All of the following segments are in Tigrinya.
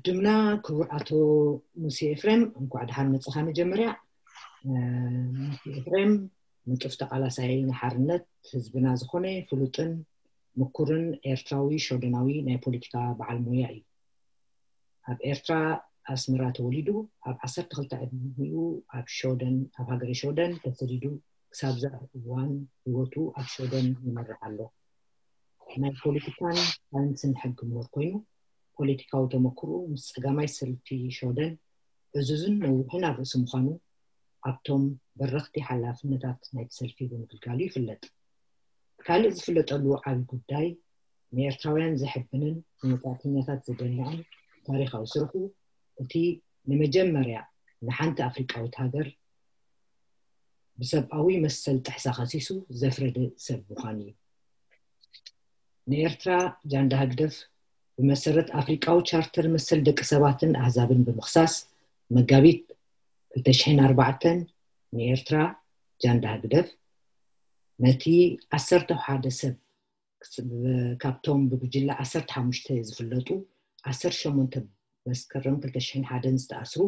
ዕድምና ክቡር ኣቶ ሙሴ ኤፍሬም፣ እንኳዕ ደሓን መጻኻ። መጀመርያ፣ እ፣ ሙሴ ኤፍሬም ንጡፍ ተቓላሳይ ንሓርነት ህዝብና ዝኾነ ፍሉጥን ምኩርን ኤርትራዊ ሸወደናዊ ናይ ፖለቲካ በዓል ሞያ እዩ። ኣብ ኤርትራ ኣስመራ ተወሊዱ፣ ኣብ ዓሰርተ ክልተ ዕድሚኡ ኣብ ሸወደን፣ ኣብ ሃገረ ሸወደን ተሰዲዱ ክሳብ ዛዕ እዋን ህይወቱ ኣብ ሸወደን ይመርሕ ኣሎ። ናይ ፖለቲካን ሳይንስን ሕጊ ምሁር ኮይኑ፣ ፖለቲካዊ ተመክሮ ምስ ጸጋማይ ሰልፊ ሸወደን ዕዙዝን ነዊሕን ኣብ ርእሲ ምዃኑ፣ ኣብቶም በረኽቲ ሓላፍነታት ናይቲ ሰልፊ ብምግልጋሉ ይፍለጥ። ካልእ ዝፍለጠሉ ዓቢ ጉዳይ፣ ንኤርትራውያን ዘሕብንን ንመጻእተኛታት ዘደንቕን ታሪኻዊ ስርሑ፣ እቲ ንመጀመርያ ንሓንቲ ኣፍሪቃዊት ሃገር ብሰብኣዊ መሰል ጥሕሳ ከሲሱ ዘፍረደ ሰብ ምዃኑ እዩ። ንኤርትራ ጃንዳ ህግደፍ ብመሰረት ኣፍሪቃዊ ቻርተር መሰል ደቂ ሰባትን ኣህዛብን ብምኽሳስ፣ መጋቢት ክልተ ሽሕን ኣርባዕተን ንኤርትራ ጃንዳ ህግደፍ ነቲ ዓሰርተ ሓደ ሰብ፣ ካብቶም ብጉጅለ ዓሰርተ ሓሙሽተ ዝፍለጡ፣ ዓሰርተ ሸሞንተ መስከረም ክልተ ሽሕን ሓደን ዝተኣስሩ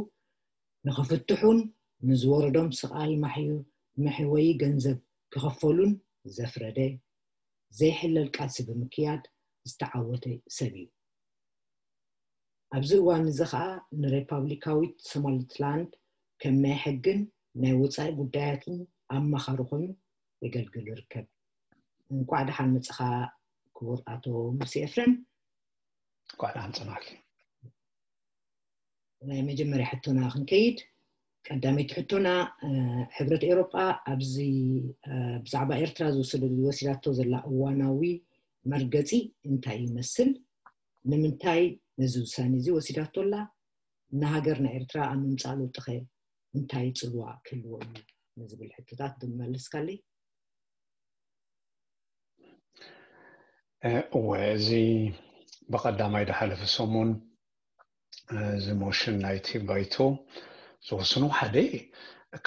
ንኽፍትሑን ንዝወረዶም ስቓይ ማሕዩ-፣ መሕወዪ ገንዘብ ክኸፈሉን ዘፍረደ፣ ዘይሕለል ቃልሲ ብምክያድ ዝተዓወተ ሰብ እዩ። ኣብዚ እዋን እዚ ኸኣ ንሬፓብሊካዊት ሶማሊትላንድ ከም ናይ ሕግን ናይ ወጻኢ ጉዳያትን ኣማኻሪ ኮይኑ የገልግል ይርከብ። እንቋዕ ደሓን መጻኻ ክቡር ኣቶ ሙሴ ኤፍሬም። እንቋዕ ደሓን ጸናሕኪ። ናይ መጀመርያ ሕቶና ክንከይድ፣ ቀዳመይቲ ሕቶና፣ እ፣ ሕብረት ኤውሮጳ ኣብዚ፣ እ፣ ብዛዕባ ኤርትራ ዝወሰደ-፣ ዝወሲዳቶ ዘላ እዋናዊ መርገጺ እንታይ ይመስል? ንምንታይ ነዚ ውሳኔ እዚ ወሲዳቶ ኣላ? ንሃገርና ኤርትራ ኣብ ምምጻእ ለውጢኸ እንታይ ጽልዋ ክህልዎ እዩ ንዝብል ሕቶታት ብምመለስካለይ። እ፣ እወ፣ እዚ ብቐዳማይ ዝሓለፈ ሰሙን፣ እ፣ እዚ ሞሽን ናይቲ ባይቶ ዝወስኑ ሓደ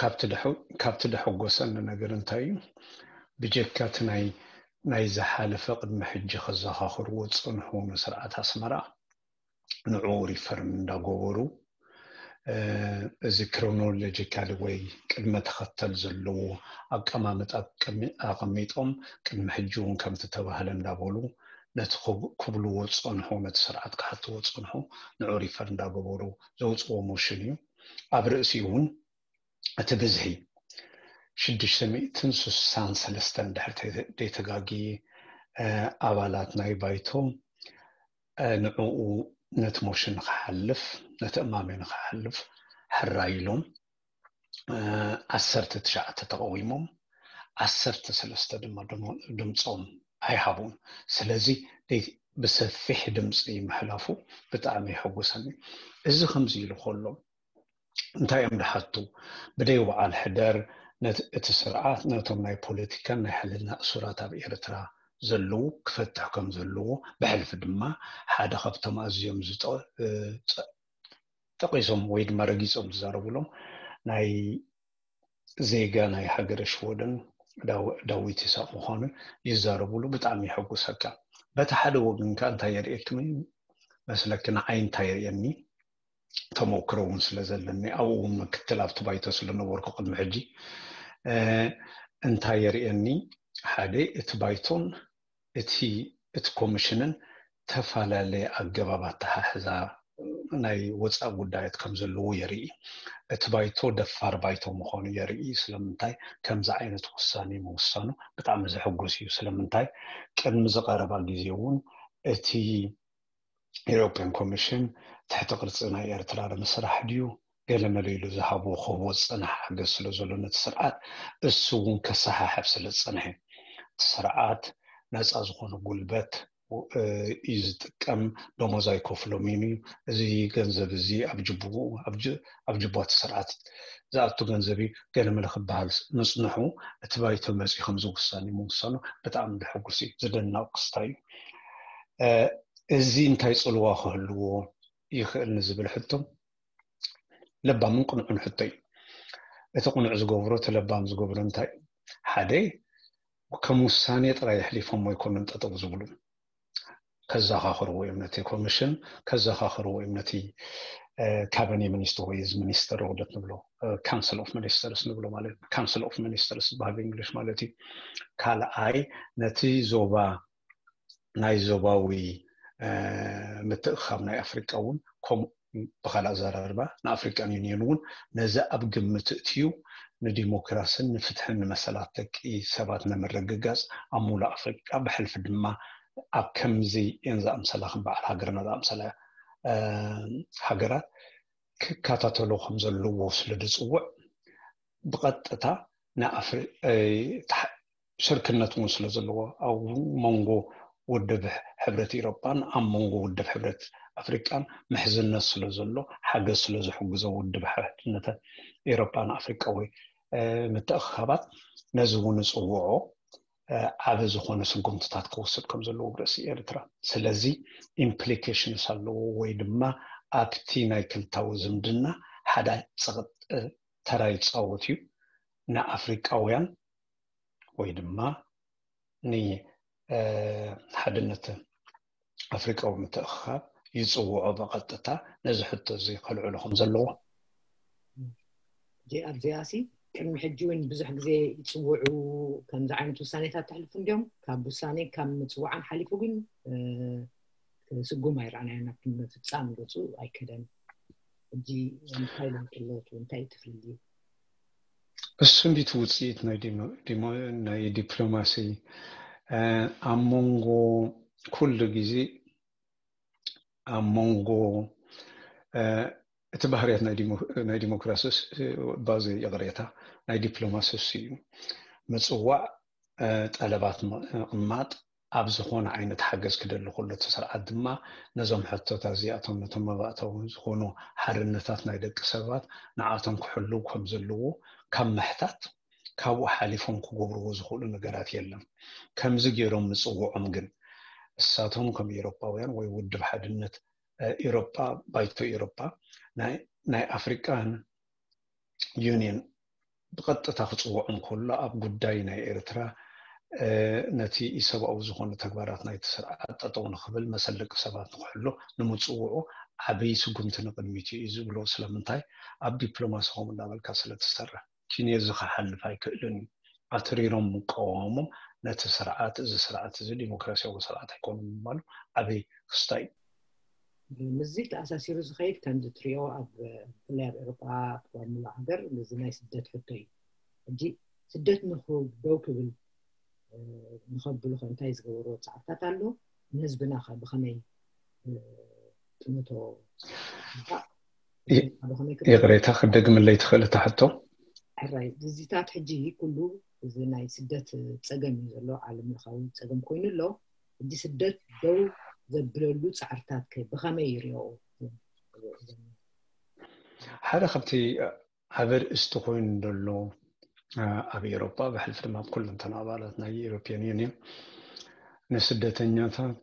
ካብቲ ደሐ-፣ ካብቲ ደሐጎሰኒ ነገር እንታይ እዩ? ብጀካ እቲ ናይ፣ ናይ ዝሓለፈ ቅድሚ ሕጂ ከዘኻኽርዎ ዝጸንሑ ንስርዓት ኣስመራ ንዕኡ ሪፈርን እንዳገበሩ፣ እ፣ እዚ ክሮኖሎጂካሊ ወይ ቅድመ ተኸተል ዘለዎ ኣቀማምጣ ቅድሚ-፣ ኣቐሚጦም ቅድሚ ሕጂ እውን ከምቲ ተባህለ እንዳበሉ ነቲ ክብ-፣ ክብልዎ ዝጸንሑ፣ ነቲ ስርዓት ክሓትዎ ዝጸንሑ ንዕኡ ሪፈር እንዳገበሩ ዘውጽዎ ሞሽን እዩ። ኣብ ርእሲኡ እውን እቲ ብዝሒ ሽዱሽተ ሚእትን ስሳን ሰለስተን ድሕር ተ-፣ ዘይተጋግየ፣ እ፣ ኣባላት ናይ ባይቶ፣ እ፣ ንዕኡ ነቲ ሞሽን ንኽሓልፍ፣ ነቲ እማመ ንኽሓልፍ ሕራይ ኢሎም፣ እ፣ ዓሰርተ ትሽዓተ ተቐዊሞም፣ ዓሰርተ ሰለስተ ድማ ድሞ-፣ ድምፆም ኣይሃቡን። ስለዚ ደይ-፣ ብሰፊሕ ድምፂ ምሕላፉ ብጣዕሚ የሐጉሰኒ። እዚ ከምዚ ኢሉ ከሎ፣ እንታይ እዮም ድሓቱ? ብደይ በዓል ሕደር ነት-፣ እቲ ስርዓት ነቶም ናይ ፖለቲካን ናይ ሕልና እሱራት ኣብ ኤርትራ ዘለዉ ክፈትሕ ከም ዘለዎ፣ ብሕልፊ ድማ ሓደ ካብቶም ኣዝዮም ዝጠ-፣ እ፣ ጸ-፣ ጠቒሶም ወይ ድማ ረጊጾም ዝዛረቡሎም ናይ ዜጋ ናይ ሃገረ ሽወደን ዳው-፣ ዳዊት ይስሐቅ ምዃኑ ይዛረቡሉ። ብጣዕሚ የሐጉሰካ። በቲ ሓደ ወገን ከኣ እንታይ የርእየክኒ መስለኪ? ንዓይ እንታይ የርእየኒ? ተመክሮ እውን ስለ ዘለኒ፣ ኣብኡ እውን ምክትል ኣብቲ ባይቶ ስለ ነበርኩ ቅድሚ ሕጂ፣ እ፣ እንታይ የርእየኒ? ሓደ፣ እቲ ባይቶን እቲ፣ እቲ ኮሚሽንን ተፈላለየ ኣገባብ ኣተሓሕዛ ናይ ወፃኢ ጉዳያት ከም ዘለዎ የርኢ። እቲ ባይቶ ደፋር ባይቶ ምዃኑ የርኢ። ስለምንታይ ከምዚ ዓይነት ውሳኔ ምውሳኑ ብጣዕሚ ዘሕጉስ እዩ። ስለምንታይ ቅድሚ ዝቐረባ ግዜ እውን እቲ ኢሮፕያን ኮሚሽን ትሕቲ ቅርጺ ናይ ኤርትራ ንምስራሕ ድዩ ገለ መለ ኢሉ ዝሃቦ ክህቦ ዝጸንሐ ሓገዝ ስለ ዘሎ ነቲ ስርዓት እሱ እውን ከሰሓሕብ ስለ ዝጸንሐ፣ እቲ ስርዓት ነጻ ዝኾነ ጉልበት፣ እ፣ እዩ ዝጥቀም፣ ደሞዝ ኣይከፍሎምን እዩ። እዚ ገንዘብ እዚ ኣብ ጅቡኡ፣ ኣብ ጅ-፣ ኣብ ጅቡቲ ስርዓት ዝኣቱ ገንዘብ እዩ ገለ መለ ክበሃል ምጽንሑ፣ እቲ ባይቶ መጺኡ ከምዚ ውሳኔ ምውሳኑ ብጣዕሚ ዘሐጉስ እዩ፣ ዝድነቕ ክስታይ እዩ። እ፣ እዚ እንታይ ጽልዋ ክህልዎ ይኽእል ንዝብል ሕቶ ለባምን ቅኑዕን ሕቶ እዩ። እቲ ቅኑዕ ዝገብሮ፣ እቲ ለባም ዝገብሮ እንታይ እዩ? ሓደ፣ ከም ውሳኔ ጥራይ ኣሕሊፎም ኣይኮኑን ጠጠው ዝብሉ። ከዘኻኽርዎ እዮም ነቲ ኮሚሽን፣ ከዘኻኽርዎ እዮም ነቲ ካቢኔ ሚኒስትር ወይ እዚ ሚኒስትር ውህደት ንብሎ፣ ካውንስል ኦፍ ሚኒስተርስ ንብሎ ማለት፣ ካውንስል ኦፍ ሚኒስተርስ ዝበሃል ብእንግሊሽ ማለት እዩ። ካልኣይ፣ ነቲ ዞባ ናይ ዞባዊ ምትእኻብ ናይ ኣፍሪቃ እውን ከምኡ፣ ብኻልእ ኣዘራርባ ንኣፍሪቃን ዩኒየን እውን ነዚ ኣብ ግምት እትዩ ንዲሞክራስን ንፍትሕን ንመሰላት ደቂ ሰባት ንምርግጋጽ ኣብ ሙሉእ ኣፍሪቃ ብሕልፊ ድማ ኣብ ከምዚ እየን ዝኣምሰላ ከም በዓል ሃገርና ዝኣምሰላ ሃገራት ክከታተሎ ከም ዘለዎ ስለ ዝጽውዕ ብቐጥታ ንኣፍሪ ሽርክነት እውን ስለ ዘለዎ ኣብ መንጎ ውድብ ሕብረት ኤሮጳን ኣብ መንጎ ውድብ ሕብረት ኣፍሪቃን ምሕዝነት ስለ ዘሎ ሓገዝ ስለ ዝሕግዞ ውድብ ሓድነት ኤሮጳን ኣፍሪቃ ወይ ምትእኽኻባት ነዚ እውን ዝፅውዖ ዓቢ ዝኾነ ስጉምትታት ክወስድ ከም ዘለዎ ርእሲ ኤርትራ። ስለዚ ኢምፕሊኬሽንስ ኣለዎ ወይ ድማ ኣብቲ ናይ ክልታዊ ዝምድና ሓደ ተራ ይፃወት እዩ። ንኣፍሪቃውያን ወይ ድማ ንሓድነት ኣፍሪቃዊ ምትእኽኻብ ይፅውዖ ብቐጥታ ነዚ ሕቶ እዚ ከልዕሎ ከም ዘለዎ። ኣብዚኣሲ ቅድሚ ሕጂ እውን ብዙሕ ግዜ ይፅውዑ ከምዚ ዓይነት ውሳኔታት ተሕልፉ እንዲዮም። ካብ ውሳኔ ካብ ምፅዋዓን ሓሊፉ ግን ስጉም ኣይረኣናዮ ናብ ምፍፃም ገፁ ኣይከደን። ሕጂ እንታይ ለውጢ ኣለዎ? እንታይ እዩ እቲ ፍልልዩ? እሱ እንዲቲ ውፅኢት ናይ ዲፕሎማሲ ኣብ መንጎ ኩሉ ግዜ ኣብ መንጎ እቲ ባህርያት ናይ ዲሞክራሲ ባዘ ይቕሬታ ናይ ዲፕሎማሲ እሱ እዩ። ምፅዋዕ፣ ጠለባት ምቕማጥ፣ ኣብ ዝኾነ ዓይነት ሓገዝ ክደሊ ከሎ እቲ ስርዓት ድማ ነዞም ሕቶታት እዚኣቶም ነቶም መባእታዊ ዝኾኑ ሓርነታት ናይ ደቂ ሰባት ንዓቶም ክሕልው ከም ዘለዎ ካብ ምሕታት ካብኡ ሓሊፎም ክገብርዎ ዝኽእሉ ነገራት የለን። ከምዚ ገይሮም ምፅውዖም ግን እሳቶም ከም ኤሮጳውያን ወይ ውድብ ሓድነት ኤሮጳ ባይቶ ኤሮጳ ናይ ኣፍሪቃን ዩኒየን ብቐጥታ ክፅውዖም ከሎ ኣብ ጉዳይ ናይ ኤርትራ ነቲ ኢሰብኣዊ ዝኾነ ተግባራት ናይቲ ስርዓት ጠጠው ንኽብል መሰል ደቂ ሰባት ንክሕሎ ንምፅውዑ ዓብይ ስጉምቲ ንቕድሚት እዩ ዝብሎ። ስለምንታይ ኣብ ዲፕሎማሲ ከምኡ እናበልካ ስለትሰርሕ ኪኔዚ ክሓልፍ ኣይክእልን እዩ። ኣትሪሮም ምቃወሞም ነቲ ስርዓት እዚ ስርዓት እዚ ዲሞክራሲያዊ ስርዓት ኣይኮኑን ምባሉ ዓብይ ክስታይ እዩ። ምስዚ ተኣሳሲሩ ዝኸይድ ከምዚ ትሪኦ ኣብ ብፍላይ ኣብ ኤሮጳ ኣብ ሙሉእ ሃገር እዚ ናይ ስደት ሕቶ እዩ። ሕጂ ስደት ንኽደው ክብል ንኸብሉ ከ እንታይ ዝገበርዎ ፃዕርታት ኣሎ? ንህዝብና ከ ብኸመይ ጥምቶ? ይቕሬታ ክደግምለይ ትኽእል እታ ሕቶ? ሕራይ እዚታት ሕጂ ኩሉ እዚ ናይ ስደት ፀገም እዩ ዘሎ፣ ዓለም ለኻዊ ፀገም ኮይኑ ኣሎ። ሕጂ ስደት ደው ዘብለሉ ፃዕርታት ከ ብኸመይ ይሪኦ? ሓደ ካብቲ ዓቢ ርእስቲ ኮይኑ ዘሎ ኣብ ኤሮጳ ብሕልፊ ድማ ኣብ ኩለንተን ኣባላት ናይ ኤሮፒያን ዩኒየን ንስደተኛታት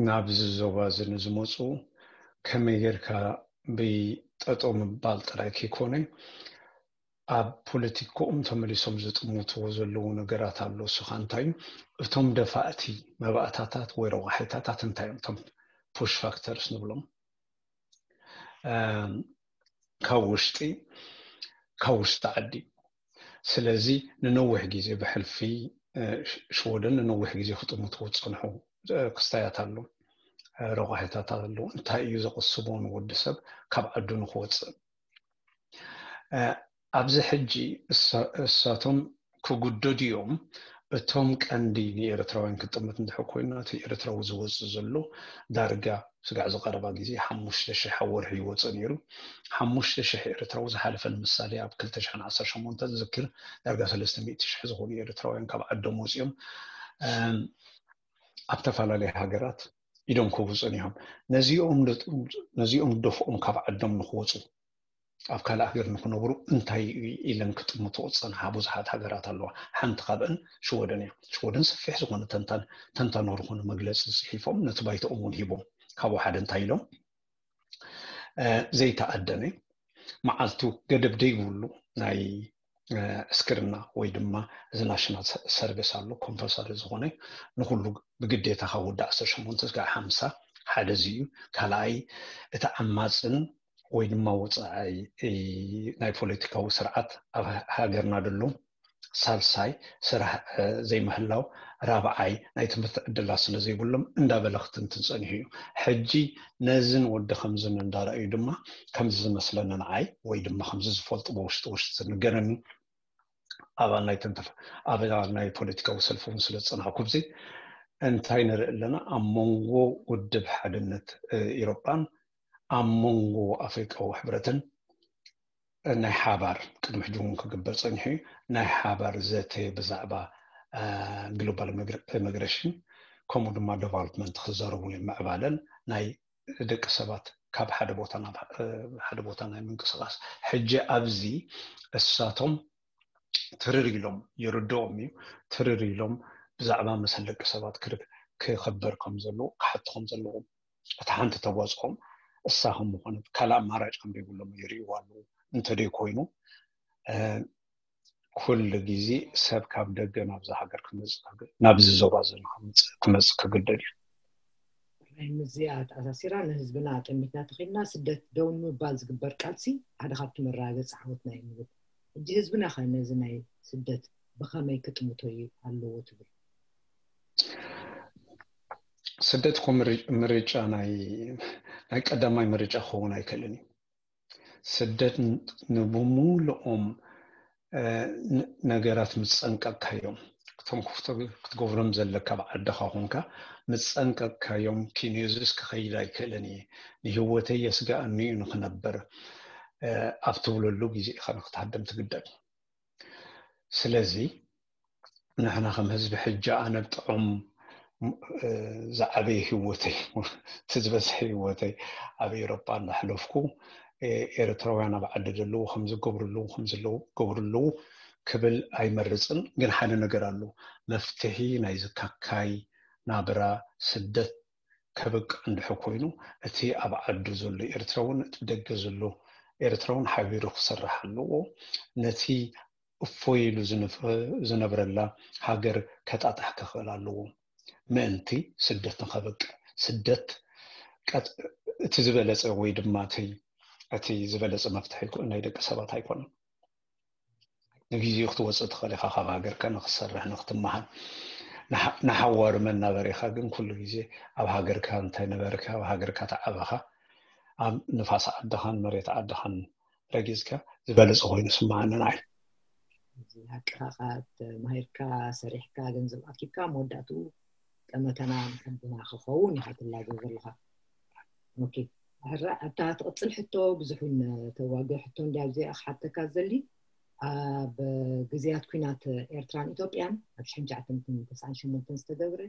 ናብዚ ዞባ እዚ ንዝመፁ ከመይ ጌርካ ብጠጠው ምባል ጥራይ ከይኮነ ኣብ ፖለቲክኦም ተመሊሶም ዝጥምትዎ ዘለዉ ነገራት ኣሎ። እሱ ከዓ እንታይ እዩ? እቶም ደፋእቲ መባእታታት ወይ ረቋሒታታት እንታይ እዮም? እቶም ፑሽ ፋክተርስ ንብሎም ካብ ውሽጢ ካብ ውሽጢ ዓዲ። ስለዚ ንነዊሕ ግዜ ብሕልፊ ሽወደን ንነዊሕ ግዜ ክጥምትዎ ዝፀንሑ ክስታያት ኣሎ፣ ረቋሒታት ኣሎ። እንታይ እዩ ዘቕስቦ ንወዲ ሰብ ካብ ዓዱ ንክወፅእ? ኣብዚ ሕጂ እሳቶም ክጉደዱ እዮም። እቶም ቀንዲ ንኤርትራውያን ክጥምት እንድሕር ኮይና እቲ ኤርትራዊ ዝወፅእ ዘሎ ዳርጋ ስጋዕ ዝቐረባ ግዜ ሓሙሽተ ሽሕ ኣብ ወርሒ ይወፅእ ነይሩ። ሓሙሽተ ሽሕ ኤርትራዊ ዝሓለፈ ንምሳሌ ኣብ ክልተ ሽሕን ዓሰርተ ሸሞንተን ዝዝክር ዳርጋ ሰለስተ ሚእቲ ሽሕ ዝኾኑ ኤርትራውያን ካብ ዓዶም ወፂኦም ኣብ ተፈላለየ ሃገራት ኢዶም ክውፅኡ እዮም። ነዚኦም ዝደፍኦም ካብ ዓዶም ንክወፁ ኣብ ካልእ ሃገር ንክነብሩ እንታይ ኢለን ክጥምትኦ ዝፀንሓ ብዙሓት ሃገራት ኣለዋ። ሓንቲ ካብአን ሽወደን እያ። ሽወደን ሰፊሕ ዝኾነ ተንታን ተንታኖ ዝኾነ መግለፂ ፅሒፎም ነቲ ባይቶኦም እውን ሂቦም። ካብኡ ሓደ እንታይ ኢሎም ዘይተኣደነ መዓልቱ ገደብ ደይብሉ ናይ ዕስክርና ወይ ድማ እዚ ናሽናል ሰርቪስ ኣሎ፣ ኮምፐልሰሪ ዝኾነ ንኩሉ ብግዴታ ካብ ወዲ ዓሰርተ ሸሞንተ ስጋዕ ሓምሳ ሓደ እዚ እዩ። ካልኣይ እቲ ዓማፅን ወይ ድማ ወፃዓይ ናይ ፖለቲካዊ ስርዓት ኣብ ሃገርና ደሎ፣ ሳልሳይ ስራሕ ዘይምህላው፣ ራብዓይ ናይ ትምህርቲ ዕድላት ስለ ዘይብሎም እንዳበለ ክትንትን ፀኒሑ እዩ። ሕጂ ነዝን ወዲ ከምዝን እንዳረኣዩ ድማ ከምዚ ዝመስለኒ ንዓይ ወይ ድማ ከምዚ ዝፈልጡ ብውሽጢ ውሽጢ ዝንገረኒ ኣባል ናይ ተንተፍ ኣባል ናይ ፖለቲካዊ ሰልፊ እውን ስለ ዝፀናሕኩ ብዚ እንታይ ንርኢ ኣለና ኣብ መንጎ ውድብ ሓድነት ኢሮጳን ኣብ መንጎ ኣፍሪቃዊ ሕብረትን ናይ ሓባር ቅድሚ ሕጂ እውን ክግበር ፀኒሑ እዩ ናይ ሓባር ዘተ ብዛዕባ ግሎባል ኢሚግሬሽን ከምኡ ድማ ዴቨሎፕመንት ክዛረቡ እዮም ምዕባለን ናይ ደቂ ሰባት ካብ ሓደ ቦታ ናብ ሓደ ቦታ ናይ ምንቅስቃስ ሕጂ ኣብዚ እሳቶም ትርር ኢሎም ይርድኦም እዩ ትርር ኢሎም ብዛዕባ መሰል ደቂ ሰባት ክከበር ከም ዘለዎ ክሓቱ ከም ዘለዎም እቲ ሓንቲ ተዋፅኦም እሳ ከም ምኾነት ካልእ ኣማራጭ ከም ዘይብሎም ይርእይዎ ኣለዉ እንተደይ ኮይኑ ኩሉ ግዜ ሰብ ካብ ደገ ናብዚ ሃገር ክመፅእ ናብዚ ዞባ ዘሎ ክመፅእ ክግደድ እዩ ምስዚኣ ተኣሳሲራ ንህዝብና ጠሚትና ተኺልና ስደት ደው ንምባል ዝግበር ቃልሲ ሓደ ካብቲ መረጋገፂ ዓወትና እዩ ንብል ሕጂ ህዝብና ከ ነዚ ናይ ስደት ብኸመይ ክጥምቶ ኣለዎ ትብል ስደት እኮ ምርጫ ናይ ናይ ቀዳማይ ምርጫ ክኸውን ኣይክእልን እዩ ስደት ንብሙሉኦም ነገራት ምፀንቀቅካዮም እቶም ክትገብሮም ዘለካ ኣብ ዓድኻ ኮንካ ምፀንቀቅካዮም ኪንዮዝስ ክኸይድ ኣይክእልን እየ ንህወተይ የስጋኣኒ እዩ ንክነብር ኣብ ትብለሉ ግዜ ኢኻ ንክትሃደም ትግደድ ስለዚ ንሕና ከም ህዝቢ ሕጂ ኣነ ብጥዑም ዝዓበየ ህወተይ እቲ ዝበዝሐ ህወተይ ኣብ ኤሮጳ እንዳሕለፍኩ ኤርትራውያን ኣብ ዓዲ ዘለዉ ከምዚ ገብሩ ኣለዉ ከምዚ ኣለዉ ገብሩ ኣለዉ ክብል ኣይመርፅን ግን ሓደ ነገር ኣሎ መፍትሒ ናይ ዝካካይ ናብራ ስደት ከብቅዕ እንድሕር ኮይኑ እቲ ኣብ ዓዱ ዘሎ ኤርትራውን እቲ ደገ ዘሎ ኤርትራውን ሓቢሩ ክሰርሕ ኣለዎ ነቲ እፎይ ኢሉ ዝነብረላ ሃገር ከጣጥሕ ክኽእል ኣለዎ ምእንቲ ስደት ንኸበቅዕ ስደት እቲ ዝበለፀ ወይ ድማ እቲ ዝበለፀ መፍትሒ ናይ ደቂ ሰባት ኣይኮነን ንግዜኡ ክትወፅእ ትኽእል ኢኻ ካብ ሃገርካ ንክትሰርሕ ንክትመሃር ንሓዋሩ መናበሪኻ ግን ኩሉ ግዜ ኣብ ሃገርካ እንታይ ነበርካ ኣብ ሃገርካ ተዓበኻ ኣብ ንፋስ ዓድኻን መሬት ዓድኻን ረጊፅካ ዝበለፀ ኮይኑ ስምዓኒ ንዓይ ሓቅኻ ተማሂርካ ሰሪሕካ ገንዘብ ኣኪብካ መወዳእትኡ ጠመተና ንሓድና ክኸውን ኢኻ ትላገብ ዘለኻ ሕራ ኣብታ ትቕፅል ሕቶ ብዙሕ እውን ተዋግዕ ሕቶ እንዲ ኣብዚኣ ክሓተካ ዘሊ ኣብ ግዜያት ኩናት ኤርትራን ኢትዮጵያን ኣብ ሽሕን ትሽዓተ ሚእትን ተስዓን ሸሞንተን ዝተገብረ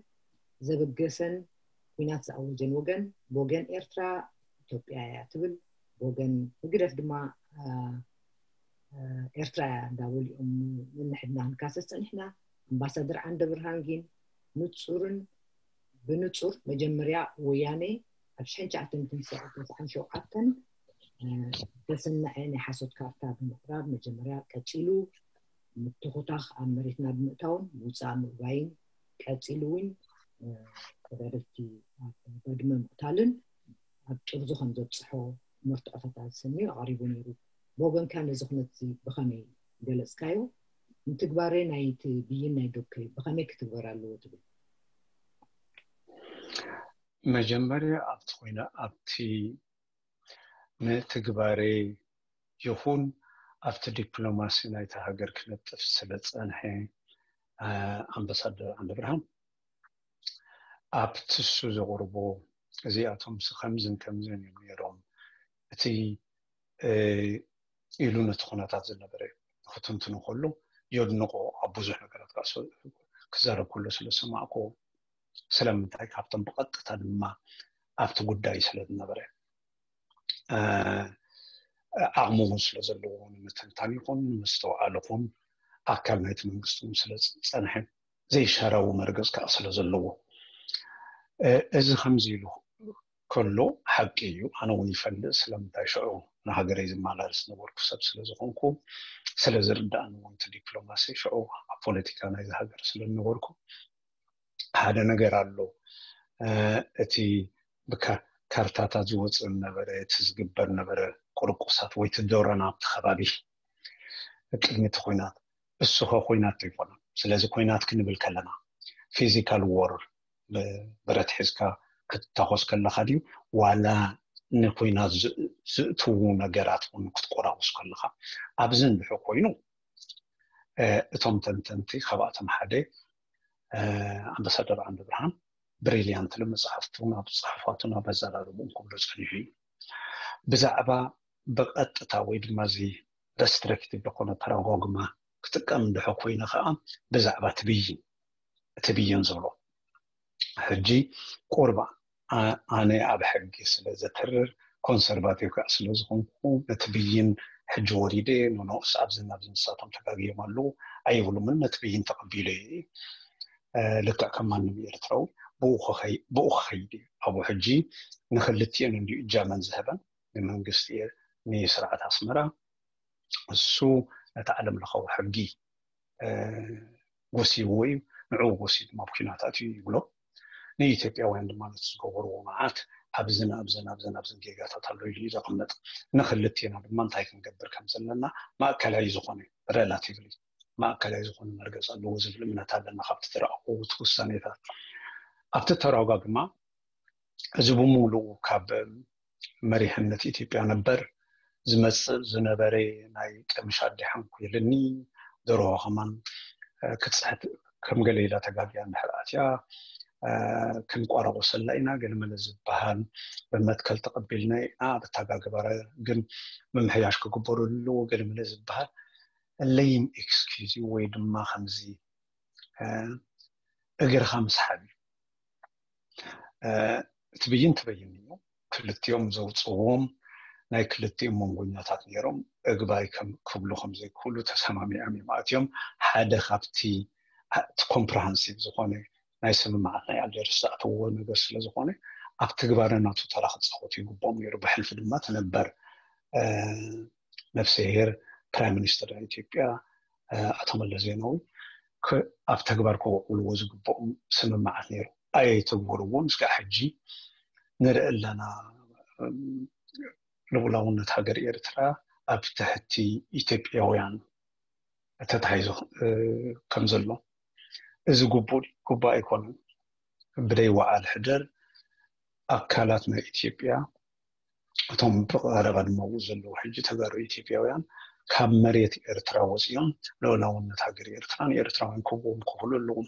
ዘበገሰን ኩናት ዝኣወጀን ወገን ብወገን ኤርትራ ኢትዮጵያ እያ ትብል ብወገን ህግደፍ ድማ ኤርትራ እያ እንዳበሉ እዮም ንንሕድና ክንካሰስ ፀኒሕና ኣምባሳደር ዓንደ ብርሃን ግን ንፁርን ብንፁር መጀመርያ ወያኔ ኣብ ሽሕን ትሽዓተ ሚእትን ተስዓን ሸውዓተን ዝተሰነዐ ናይ ሓሶት ካርታ ብምቕራብ መጀመርያ ቀፂሉ ምትኹታኽ ኣብ መሬትና ብምእታውን ምውፃእ ምእባይን ቀፂሉ እውን ተጋደልቲ ኣብ ባድመ ምቕታልን ኣብ ጥርዙ ከም ዘብፅሖ መርትዖታት ኣሰንዩ ኣቕሪቡ ነይሩ። ብወገንካ ነዚ ኩነት እዚ ብኸመይ ገለፅካዮ? ንትግባረ ናይቲ ብይን ናይ ዶብ ከ ብኸመይ ክትግበር ኣለዎ ትብል? መጀመርያ ኣብቲ ኮይነ ኣብቲ ንትግባረ ይኹን ኣብቲ ዲፕሎማሲ ናይታ ሃገር ክነጥፍ ስለ ዝፀንሐ ኣምባሳደር ዓንደብርሃን ኣብቲ እሱ ዘቕርቦ እዚኣቶምሲ ከምዝን ከምዝን እዮም ነይሮም እቲ ኢሉ ነቲ ኩነታት ዝነበረ ክትንትኑ ከሎ የድንቆ ኣብ ብዙሕ ነገራት ክዛረብ ከሎ ስለ ዝሰማዕኮ ስለምንታይ ካብቶም ብቐጥታ ድማ ኣብቲ ጉዳይ ስለ ዝነበረ ዓቕሚ እውን ስለ ዘለዎ ንምትንታን ይኹን ንምስተውዓል ይኹን ኣካል ናይቲ መንግስቲ እውን ስለ ዝፀንሐ ዘይሻራዊ መርገፅ ከዓ ስለ ዘለዎ እዚ ከምዚ ኢሉ ከሎ ሓቂ እዩ ኣነ እውን ይፈልጥ ስለምንታይ ሽዑ ንሃገረይ ዝመላለስ ነበርኩ ሰብ ስለ ዝኾንኩ፣ ስለ ዝርዳእኒ እውን እቲ ዲፕሎማሲ ሽዑ ኣብ ፖለቲካ ናይዚ ሃገር ስለ ዝነበርኩ ሓደ ነገር ኣሎ። እቲ ብካርታታት ዝወፅእ ነበረ፣ እቲ ዝግበር ነበረ ቁርቁሳት ወይ እቲ ዶረና ኣብቲ ከባቢ ቅድሚ እቲ ኩናት፣ እሱ ከ ኩናት ኣይኮነን። ስለዚ ኩናት ክንብል ከለና ፊዚካል ዎር፣ ብረት ሒዝካ ክትታኮስ ከለካ ድዩ ዋላ ንኩናት ዝእትዉ ነገራት እውን ክትቆራቁስ ከለካ? ኣብዚ እንድሕር ኮይኑ እቶም ተንተንቲ ካብኣቶም ሓደ ኣምባሳደር ዓንደ ብርሃን ብሪልያንት መፅሓፍቱን ኣብ ፅሑፋቱን ኣብ ኣዘራርቡን ክብሎ ፀኒሑ እዩ። ብዛዕባ ብቐጥታ ወይ ድማ እዚ ረስትሪክቲቭ ዝኾነ ፓራዳይግማ ክጥቀም እንድሕር ኮይነ ከዓ ብዛዕባ ትብይን ትብይን ዝብሎ ሕጂ ቁርባ ኣነ ኣብ ሕጊ ስለ ዘትርር ኮንሰርቫቲቭ ከዓ ስለ ዝኾንኩ ነቲ ብይን ሕጂ ወሪደ ንንኡስ ኣብዚ ናብዚ ንሳቶም ተጋግዮም ኣለዉ ኣይብሉምን። ነቲ ብይን ተቐቢለ እየ ልክዕ ከም ማንም ኤርትራዊ ብኡ ክኸይድ እዩ። ኣብኡ ሕጂ ንክልቲኤን እንዲዩ እጃመን ዝህበን ንመንግስቲ ንስርዓት ኣስመራ እሱ ነቲ ዓለም ለኻዊ ሕጊ ጎሲይዎ እዩ። ንዕኡ ጎሲዩ ድማ ኣብ ኲናት ኣትዩ ይብሎ። ንኢትዮጵያውያን ድማ ነቲ ዝገበርዎ መዓት ኣብዝን ኣብዝን ኣብዝን ኣብዝን ጌጋታት ኣሎ ኢሉ እዩ ዘቕምጥ። ንክልቴና ድማ እንታይ ክንገብር ከም ዘለና ማእከላይ ዝኾነ ሬላቲቭሊ ማእከላይ ዝኾነ መርገፂ ኣለዎ ዝብል እምነት ኣለና። ካብቲ ዝረኣኹዎ እቲ ውሳኔታት ኣብቲ ተራጓግማ እዚ ብምሉኡ ካብ መሪሕነት ኢትዮጵያ ነበር ዝመፅእ ዝነበረ ናይ ቀምሽ ኣዲሓን ኮይልኒ ደርሆ ከማን ክትፅሕት ከም ገለ ኢላ ተጋግያ እንድሕር ኣትያ ክንቋረቆሰላ ኢና ገለመለ ዝበሃል ብመትከል ተቐቢልና ኢና ብተጋግባረ ግን ምምሕያሽ ክግበሩ ኣለዎ ገለመለ ዝበሃል ለይም ኤክስኪዝ ወይ ድማ ከምዚ እግርካ ምስሓብ እዩ። እቲ ብይን ትበይን እዩ። ክልቲኦም ዘውፅዎም ናይ ክልቲኦም መንጎኛታት ነይሮም እግባይ ክብሉ ከምዘይክእሉ ተሰማሚዖም እዮም ኣትዮም። ሓደ ካብቲ እቲ ኮምፕረሃንሲቭ ዝኾነ ናይ ስምምዓት ናይ ኣልጀርስ ዝኣተውዎ ነገር ስለ ዝኾነ ኣብ ትግባረ ናቱ ተራ ክፃወቱ ይግብኦም ነይሩ። ብሕልፊ ድማ ትነበር ነፍስሄር ፕራይም ሚኒስትር ናይ ኢትዮጵያ ኣቶ መለስ ዜናዊ ኣብ ተግባር ከውዕልዎ ዝግብኦም ስምምዓት ነይሩ። ኣየተግበርዎን። እስካዕ ሕጂ ንርኢ ኣለና ልኡላውነት ሃገር ኤርትራ ኣብ ትሕቲ ኢትዮጵያውያን ተታሒዙ ከም ዘሎ። እዚ ግቡእ ግቡእ ኣይኮነን። ብደይ ወዓል ሕደር ኣካላት ናይ ኢትዮጵያ እቶም ብቐረባ ድማ ኣብኡ ዘለዉ ሕጂ ተጋሩ ኢትዮጵያውያን ካብ መሬት ኤርትራ ወፂኦም ልኡላውነት ሃገር ኤርትራ ንኤርትራውያን ክህብዎም ክኽእሉ ኣለዎም።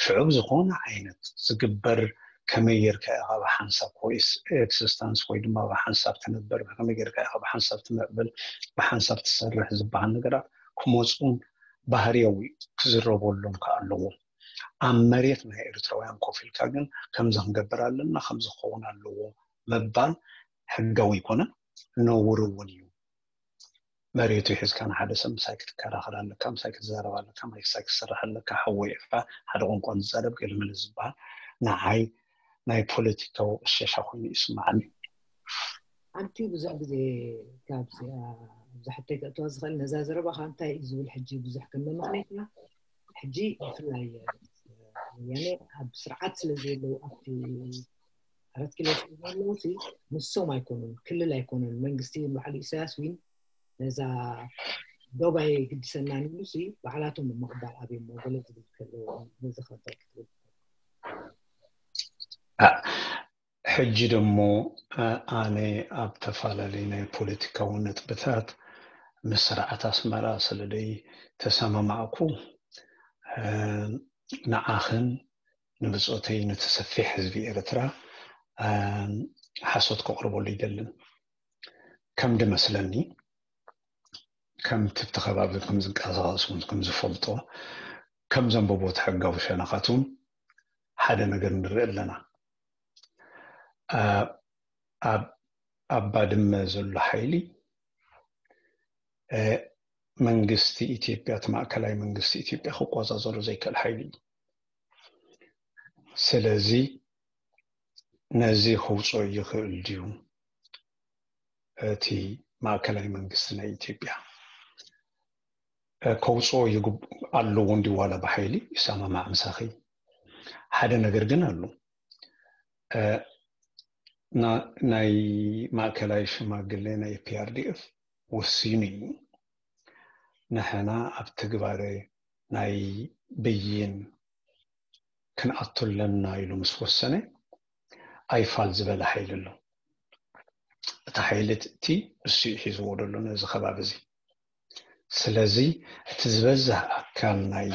ሽዑ ዝኾነ ዓይነት ዝግበር ከመይ ጌርካ ኢኻ ብሓንሳብ ኮይስ ኤክስስታንስ ወይ ድማ ብሓንሳብ ትነበር ከመይ ጌርካ ኢኻ ብሓንሳብ ትምዕብል ብሓንሳብ ትሰርሕ ዝበሃል ነገራት ክመፁን ባህርያዊ ክዝረበሎም ከዓ ኣለዎም። ኣብ መሬት ናይ ኤርትራውያን ኮፍ ኢልካ ግን ከምዚ ክንገብር ኣለና ከምዚ ክኸውን ኣለዎ ምባል ሕጋዊ ኣይኮነን፣ ነውሪ እውን እዩ። መሬቱ ሒዝካ ንሓደ ሰብ ምሳይ ክትከራኸር ኣለካ፣ ምሳይ ክትዛረብ ኣለካ፣ ምሳይ ክትሰርሕ ኣለካ፣ ሓወይ ኢኻ፣ ሓደ ቋንቋ ንዛረብ ገለመለ ዝበሃል ንዓይ ናይ ፖለቲካዊ ቅሸሻ ኮይኑ ይስምዓኒ። ሓንቲ ብዙሕ ግዜ ካብዚኣ ኣብዚ ሕቶይ ከእትዋ ዝኽእል ነዛ ዘረባኻ እንታይ እዩ ዝብል ሕጂ ብዙሕ ከም መመኽነይታ ሕጂ ብፍላይ ወያነ ኣብ ስርዓት ስለ ዘለዉ ኣብቲ ኣራት ኪሎ ስለ ዘለዉ ሲ ንሶም ኣይኮኑን ክልል ኣይኮኑን መንግስቲ በዓል ኢሳያስ ዊን ነዛ ዶብ ኣየግድሰናን ኢሉ ሲ ባዕላቶም ምቕባል ኣብዮሞ ገለ ዝብል ከለዎ ነዚ ከ እንታይ ክትብል ሕጂ ደሞ ኣነ ኣብ ተፈላለዩ ናይ ፖለቲካዊ ነጥብታት ምስ ስርዓት ኣስመራ ስለ ደይ ተሰማማዕኩ ንዓኽን ንብፆተይ ነቲ ሰፊሕ ህዝቢ ኤርትራ ሓሶት ከቕርበሉ ይደልን። ከም ድመስለኒ ከምቲ ኣብቲ ከባቢ ከም ዝንቀሳቐስ እውን ከም ዝፈልጦ ከም ዘንበቦ እቲ ሕጋዊ ሸነኻት እውን ሓደ ነገር ንርኢ ኣለና። ኣብ ባድመ ዘሎ ሓይሊ መንግስቲ ኢትዮጵያ እቲ ማእከላይ መንግስቲ ኢትዮጵያ ክቆፃፀሮ ዘይክእል ሓይሊ እዩ። ስለዚ ነዚ ከውፅኦ ይኽእል ድዩ እቲ ማእከላይ መንግስቲ ናይ ኢትዮጵያ ከውፅኦ ኣለዎ እንዲ ዋላ ብሓይሊ ይሰማማዕ ምሳኺ። ሓደ ነገር ግን ኣሎ። ናይ ማእከላይ ሽማግሌ ናይ ፒኣርዲኤፍ ወሲኑ እዩ፣ ንሕና ኣብ ትግባረ ናይ ብይን ክንኣቱ ኣለና ኢሉ ምስ ወሰነ፣ ኣይፋል ዝበለ ሓይሊ ኣሎ። እቲ ሓይሊ እቲ እሱ እዩ ሒዝዎ ዘሎ ነዚ ከባቢ እዚ። ስለዚ እቲ ዝበዝሕ ኣካል ናይ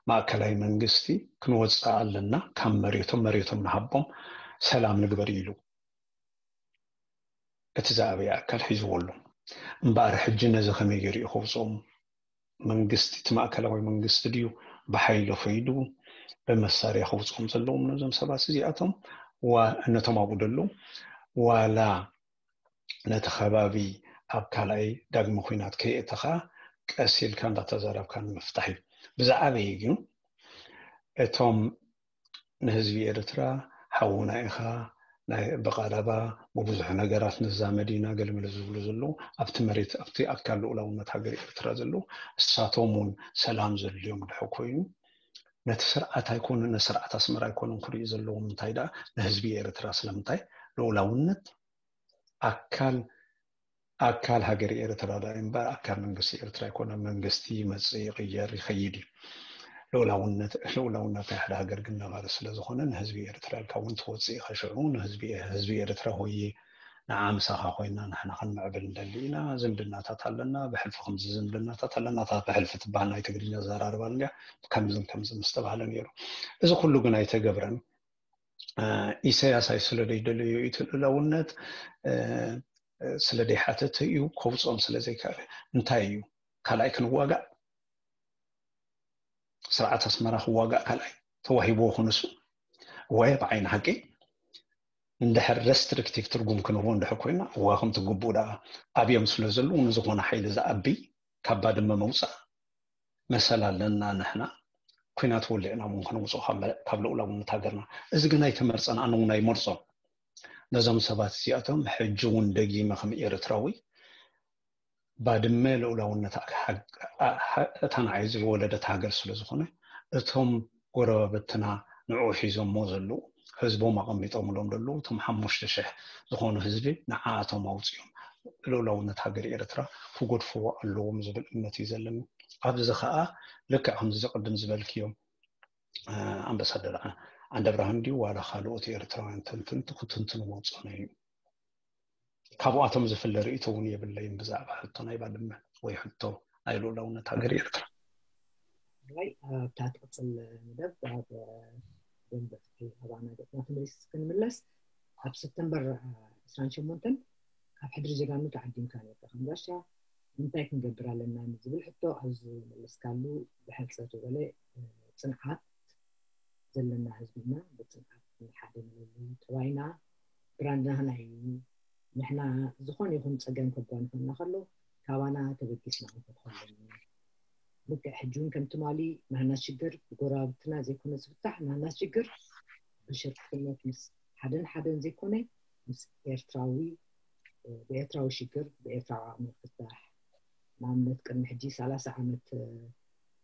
ማእከላይ መንግስቲ ክንወፅእ ኣለና፣ ካብ መሬቶም መሬቶም ንሃቦም፣ ሰላም ንግበር ኢሉ እቲ ዝኣበየ ኣካል ሒዝዎ ኣሎ። እምበኣር ሕጂ ነዚ ከመይ ገይሩ እዩ ከውፅኦም? መንግስቲ እቲ ማእከላዊ መንግስቲ ድዩ ብሓይሊ ከይዱ ብመሳርያ ከውፅኦም ዘለዎም ነዞም ሰባት እዚኣቶም? ነቶም ኣብኡ ዘለዉ ዋላ ነቲ ከባቢ ኣብ ካልኣይ ዳግመ ኲናት ከየእተኻ ቀስ ኢልካ እንዳተዛረብካ ንምፍታሕ እዩ። ብዝዓበየ ግን እቶም ንህዝቢ ኤርትራ ሓውና ኢኻ፣ ናይ ብቐረባ ብብዙሕ ነገራት ንዛመድ ኢና ገልመለ ዝብሉ ዘለዉ ኣብቲ መሬት ኣብቲ ኣካል ልኡላውነት ሃገር ኤርትራ ዘለዉ እሳቶም እውን ሰላም ዘድልዮም ድሕር ኮይኑ ነቲ ስርዓት ኣይኮኑን ንስርዓት ኣስመራ ኣይኮኑን ክርእዩ ዘለዎም እንታይ ደኣ ንህዝቢ ኤርትራ ስለምንታይ ልኡላውነት ኣካል ኣካል ሃገር ኤርትራ ዳ እምበር ኣካል መንግስቲ ኤርትራ ኣይኮነ። መንግስቲ ይመጽእ ይቕየር ይኸይድ እዩ። ልኡላውነት ልኡላውነት ናይ ሓደ ሃገር ግን ነባሪ ስለ ዝኾነ ንህዝቢ ኤርትራ ኢልካ እውን ትወጽእ ኢኻ። ሽዑ ንህዝቢ ህዝቢ ኤርትራ ሆየ ንዓ ምሳኻ ኮይና ንሕና ክንምዕብል እንደሊ ኢና። ዝምድናታት ኣለና፣ ብሕልፊ ከምዚ ዝምድናታት ኣለና። እታ ብሕልፊ ትበሃል ናይ ትግርኛ ኣዘራርባ እንድያ ከምዝን ከምዚ ምስ ተባህለ ነይሩ። እዚ ኩሉ ግን ኣይተገብረን። ኢሳያስ ኣይ ስለ ደይደለዮ እቲ ልኡላውነት ስለ ደይሓተተ እዩ፣ ከውፅኦም ስለ ዘይከኣለ። እንታይ እዩ ካልኣይ ክንዋጋእ? ስርዓት ኣስመራ ክዋጋእ ካልኣይ ተዋሂብዎ ክንሱ ወይ ብዓይኒ ሓቂ እንድሕር ረስትሪክቲቭ ትርጉም ክንህቦ እንድሕር ኮይና እዋ ከምቲ ግቡእ ደኣ ኣብዮም ስለ ዘለዉ ንዝኾነ ሓይሊ ዝኣቢ ካብ ባድመ መውፃእ መሰል ኣለና ንሕና። ኲናት ወሊዕና እውን ከነውፅኦ ካብ መ- ካብ ልኡላውነት ሃገርና። እዚ ግን ኣይተመርፀን፣ ኣነ እውን ኣይመርፆን። ነዞም ሰባት እዚኣቶም ሕጂ እውን ደጊመ ከም ኤርትራዊ ባድመ ልኡላውነት ኣ- ኣ- ኣ- እታ ንዓይ ዝወለደት ሃገር ስለ ዝኾነ እቶም ጎረባብትና ንዕኡ ሒዞሞ ዘለዉ ህዝቦም ኣቐሚጦምሎም ዘለዉ እቶም ሓሙሽተ ሽሕ ዝኾኑ ህዝቢ ንዓኣቶም ኣውፂኦም ልኡላውነት ሃገር ኤርትራ ክገድፍዎ ኣለዎም ዝብል እምነት እዩ ዘለኒ። ኣብዚ ከዓ ልክዕ ከምዚ ቅድም ዝበልክዮም ኣምባሳደር ዓንደብርሃን ድዩ ዋላ ካልኦት ኤርትራውያን ተንተንቲ ክትንትንዎ ዝፀነዩ እዩ። ካብኣቶም ዝፍለ ርእይቶ እውን የብለይን ብዛዕባ ሕቶ ናይ ባድመ ወይ ሕቶ ናይ ልኡላውነት ሃገር ኤርትራ። ራይ ኣብታ ትቕፅል መደብ ኣብ ደንበ ፍትሒ ኣባና ገፅና ክንመልስ ክንምለስ ኣብ ሰፕተምበር ዕስራን ሸሞንተን ካብ ሕድሪ ጀጋኑ ተዓዲምካ ነርካ ከም ጋሻ እንታይ ክንገብር ኣለና ንዝብል ሕቶ ኣብ ዝመለስካሉ ብሕፅር ዝበለ ጽንዓት ዘለና ህዝቢ ኢና። ብጽንዓት ንሓደ ንበሉ ጠባይና ብራንድና ናይ ንሕና ዝኾነ ይኹን ጸገም ከጓንፈና ከሎ ካባና ተበጊስና ክንፈትሖ ኣለና። ልክዕ ሕጂ እውን ከም ትማሊ ናህና ሽግር ብጎረባብትና ዘይኮነ ዝፍታሕ ናህና ሽግር ብሽርክነት ምስ ሓደን ሓደን ዘይኮነ ምስ ኤርትራዊ ብኤርትራዊ ሽግር ብኤርትራዊ ዓቕሚ ክፍታሕ። ንኣብነት ቅድሚ ሕጂ ሰላሳ ዓመት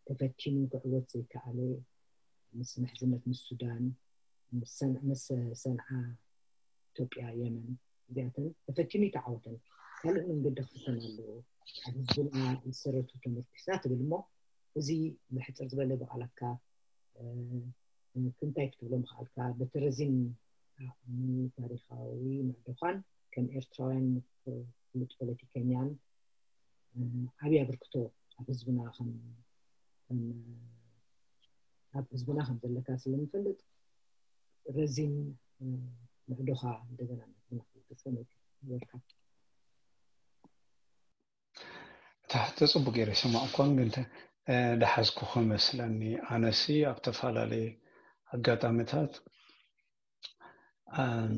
ተፈቲኑ ክዕወት ዘይከኣለ ምስ ምሕዝነት ምስ ሱዳን ምስ ሰንዓ ኢትዮጵያ የመን እዚኣተን ተፈቲኑ ይተዓወተን ካልእ መንገዲ ክፍተን ኣለዎ ኣብ ህዝብና ዝሰረቱ ተመርኪስና ትብል እሞ እዚ ብሕፅር ዝበለ ብቓላትካ እንታይ ክትብሎ ምኽኣልካ በቲ ረዚን ዓቕሚ ታሪኻዊ ምዕዶኻን ከም ኤርትራውያን ፍሉጥ ፖለቲከኛን ዓብዪ ኣበርክቶ ኣብ ህዝብና ከም ኣብ ህዝብና ከም ዘለካ ስለንፈልጥ ረዚን ምዕዶኻ እንደገና ናትና ክትገልፀ ይበልካ። እቲ ሕቶ ፅቡቅ ገይረ ይሰማዕኳን ግን ተ- እ፣ ደሓዝኩ ክመስለኒ ኣነሲ ኣብ ተፈላለየ ኣጋጣሚታት ኣም፣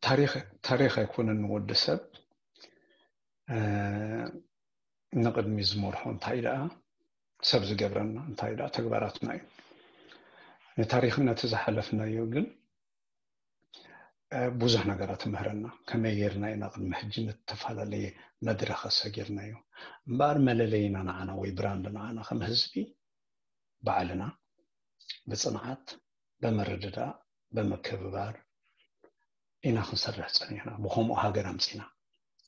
ታሪክ ታሪክ ኣይኮነን ንወዲ ሰብ እ፣ ንቅድሚ ዝመርሖ እንታይ ደኣ ሰብ ዝገብረና እንታይ ደኣ ተግባራትና እዩ። ንታሪክና እቲ ዝሓለፍናዮ ግን ብዙሕ ነገራት ትምህረና። ከመይ ጌርና ኢና ቅድሚ ሕጂ ንተፈላለየ መድረኽ ኣሰጊርናዮ? እምበኣር መለለይና ንዓና ወይ ብራንድ ንዓና ከም ህዝቢ ባዕልና ብፅንዓት፣ ብምርድዳእ፣ ብምክብባር ኢና ክንሰርሕ ፀኒሕና። ብከምኡ ሃገር ኣምፂና።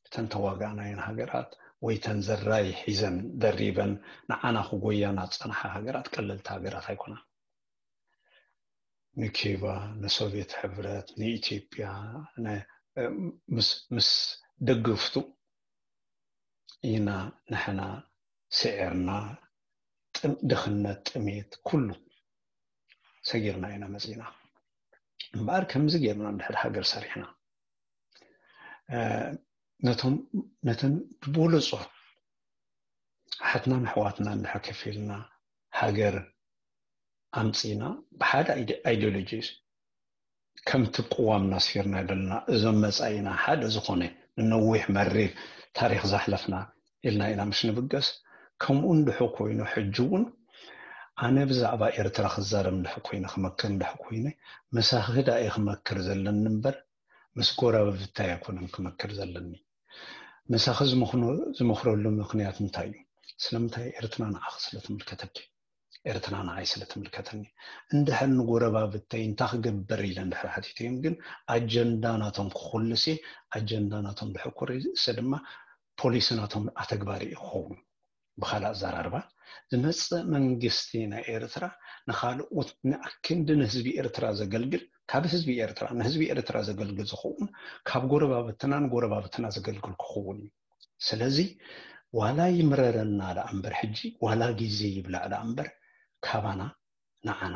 እተን ተዋጋእናየን ሃገራት ወይ ተን ዘራይ ሒዘን ደሪበን ንዓና ክጎያና ዝፀንሓ ሃገራት ቀለልቲ ሃገራት ኣይኮናን። ንኪባ፣ ንሶቪየት ሕብረት፣ ንኢትዮጵያ፣ ነ-፣ ምስ፣ ምስ ደገፍቱ ኢና ንሕና ስዒርና፣ ጥም-፣ ድኽነት፣ ጥሜት፣ ኩሉ ሰጊርና ኢና መፂና። እምበኣር ከምዚ ጌርና እንድሕር ሃገር ሰሪሕና፣ እ፣ ነቶም፣ ነተን ብበለጾ ኣሓትናን ኣሕዋትናን እንድሕር ከፊልና ሃገር ኣምፂና ብሓደ ኣይዲ-፣ ኣይዲዮሎጂ ከምቲ ቅዋም ናስፊርና ዘለና እዞም መፃኢና ሓደ ዝኾነ ንነዊሕ መሪር ታሪኽ ዘሕለፍና ኢልና ኢና ምሽ ንብገስ። ከምኡ እንድሑ ኮይኑ ሕጂ እውን ኣነ ብዛዕባ ኤርትራ ክዛረብ እንድሕ ኮይነ ክመክር እንድሕ ኮይነ ምሳኺ ዳኣ እየ ክመክር ዘለኒ እምበር ምስ ጎረባብታይ ኣይኮነን ክመክር ዘለኒ። ምሳኺ ዝምኽኖ-፣ ዝምኽረሉ ምኽንያት እንታይ እዩ? ስለምንታይ? ኤርትራ ንዓኺ ስለ ትምልከተኪ፣ ኤርትራ ንዓይ ስለ ትምልከተኒ። እንድሕር ንጎረባብተይ እንታይ ክገብር ኢለ እንድሕር ሓቲተዮም ግን ኣጀንዳ ናቶም ክኹልስ እየ። ኣጀንዳ ናቶም ድሕር ኩርሰ ድማ ፖሊሲ ናቶም ኣተግባሪ እዩ ክኸውን። ብኻልእ ኣዘራርባ ዝመጽእ መንግስቲ ናይ ኤርትራ ንኻልኦት ንኣክንዲ ንህዝቢ ኤርትራ ዘገልግል፣ ካብ ህዝቢ ኤርትራ ንህዝቢ ኤርትራ ዘገልግል ዝኸውን ካብ ጎረባብትና ንጎረባብትና ዘገልግል ክኸውን እዩ። ስለዚ ዋላ ይምረረና ደኣ እምበር ሕጂ ዋላ ግዜ ይብላዕ ደኣ እምበር ካባና ንዓና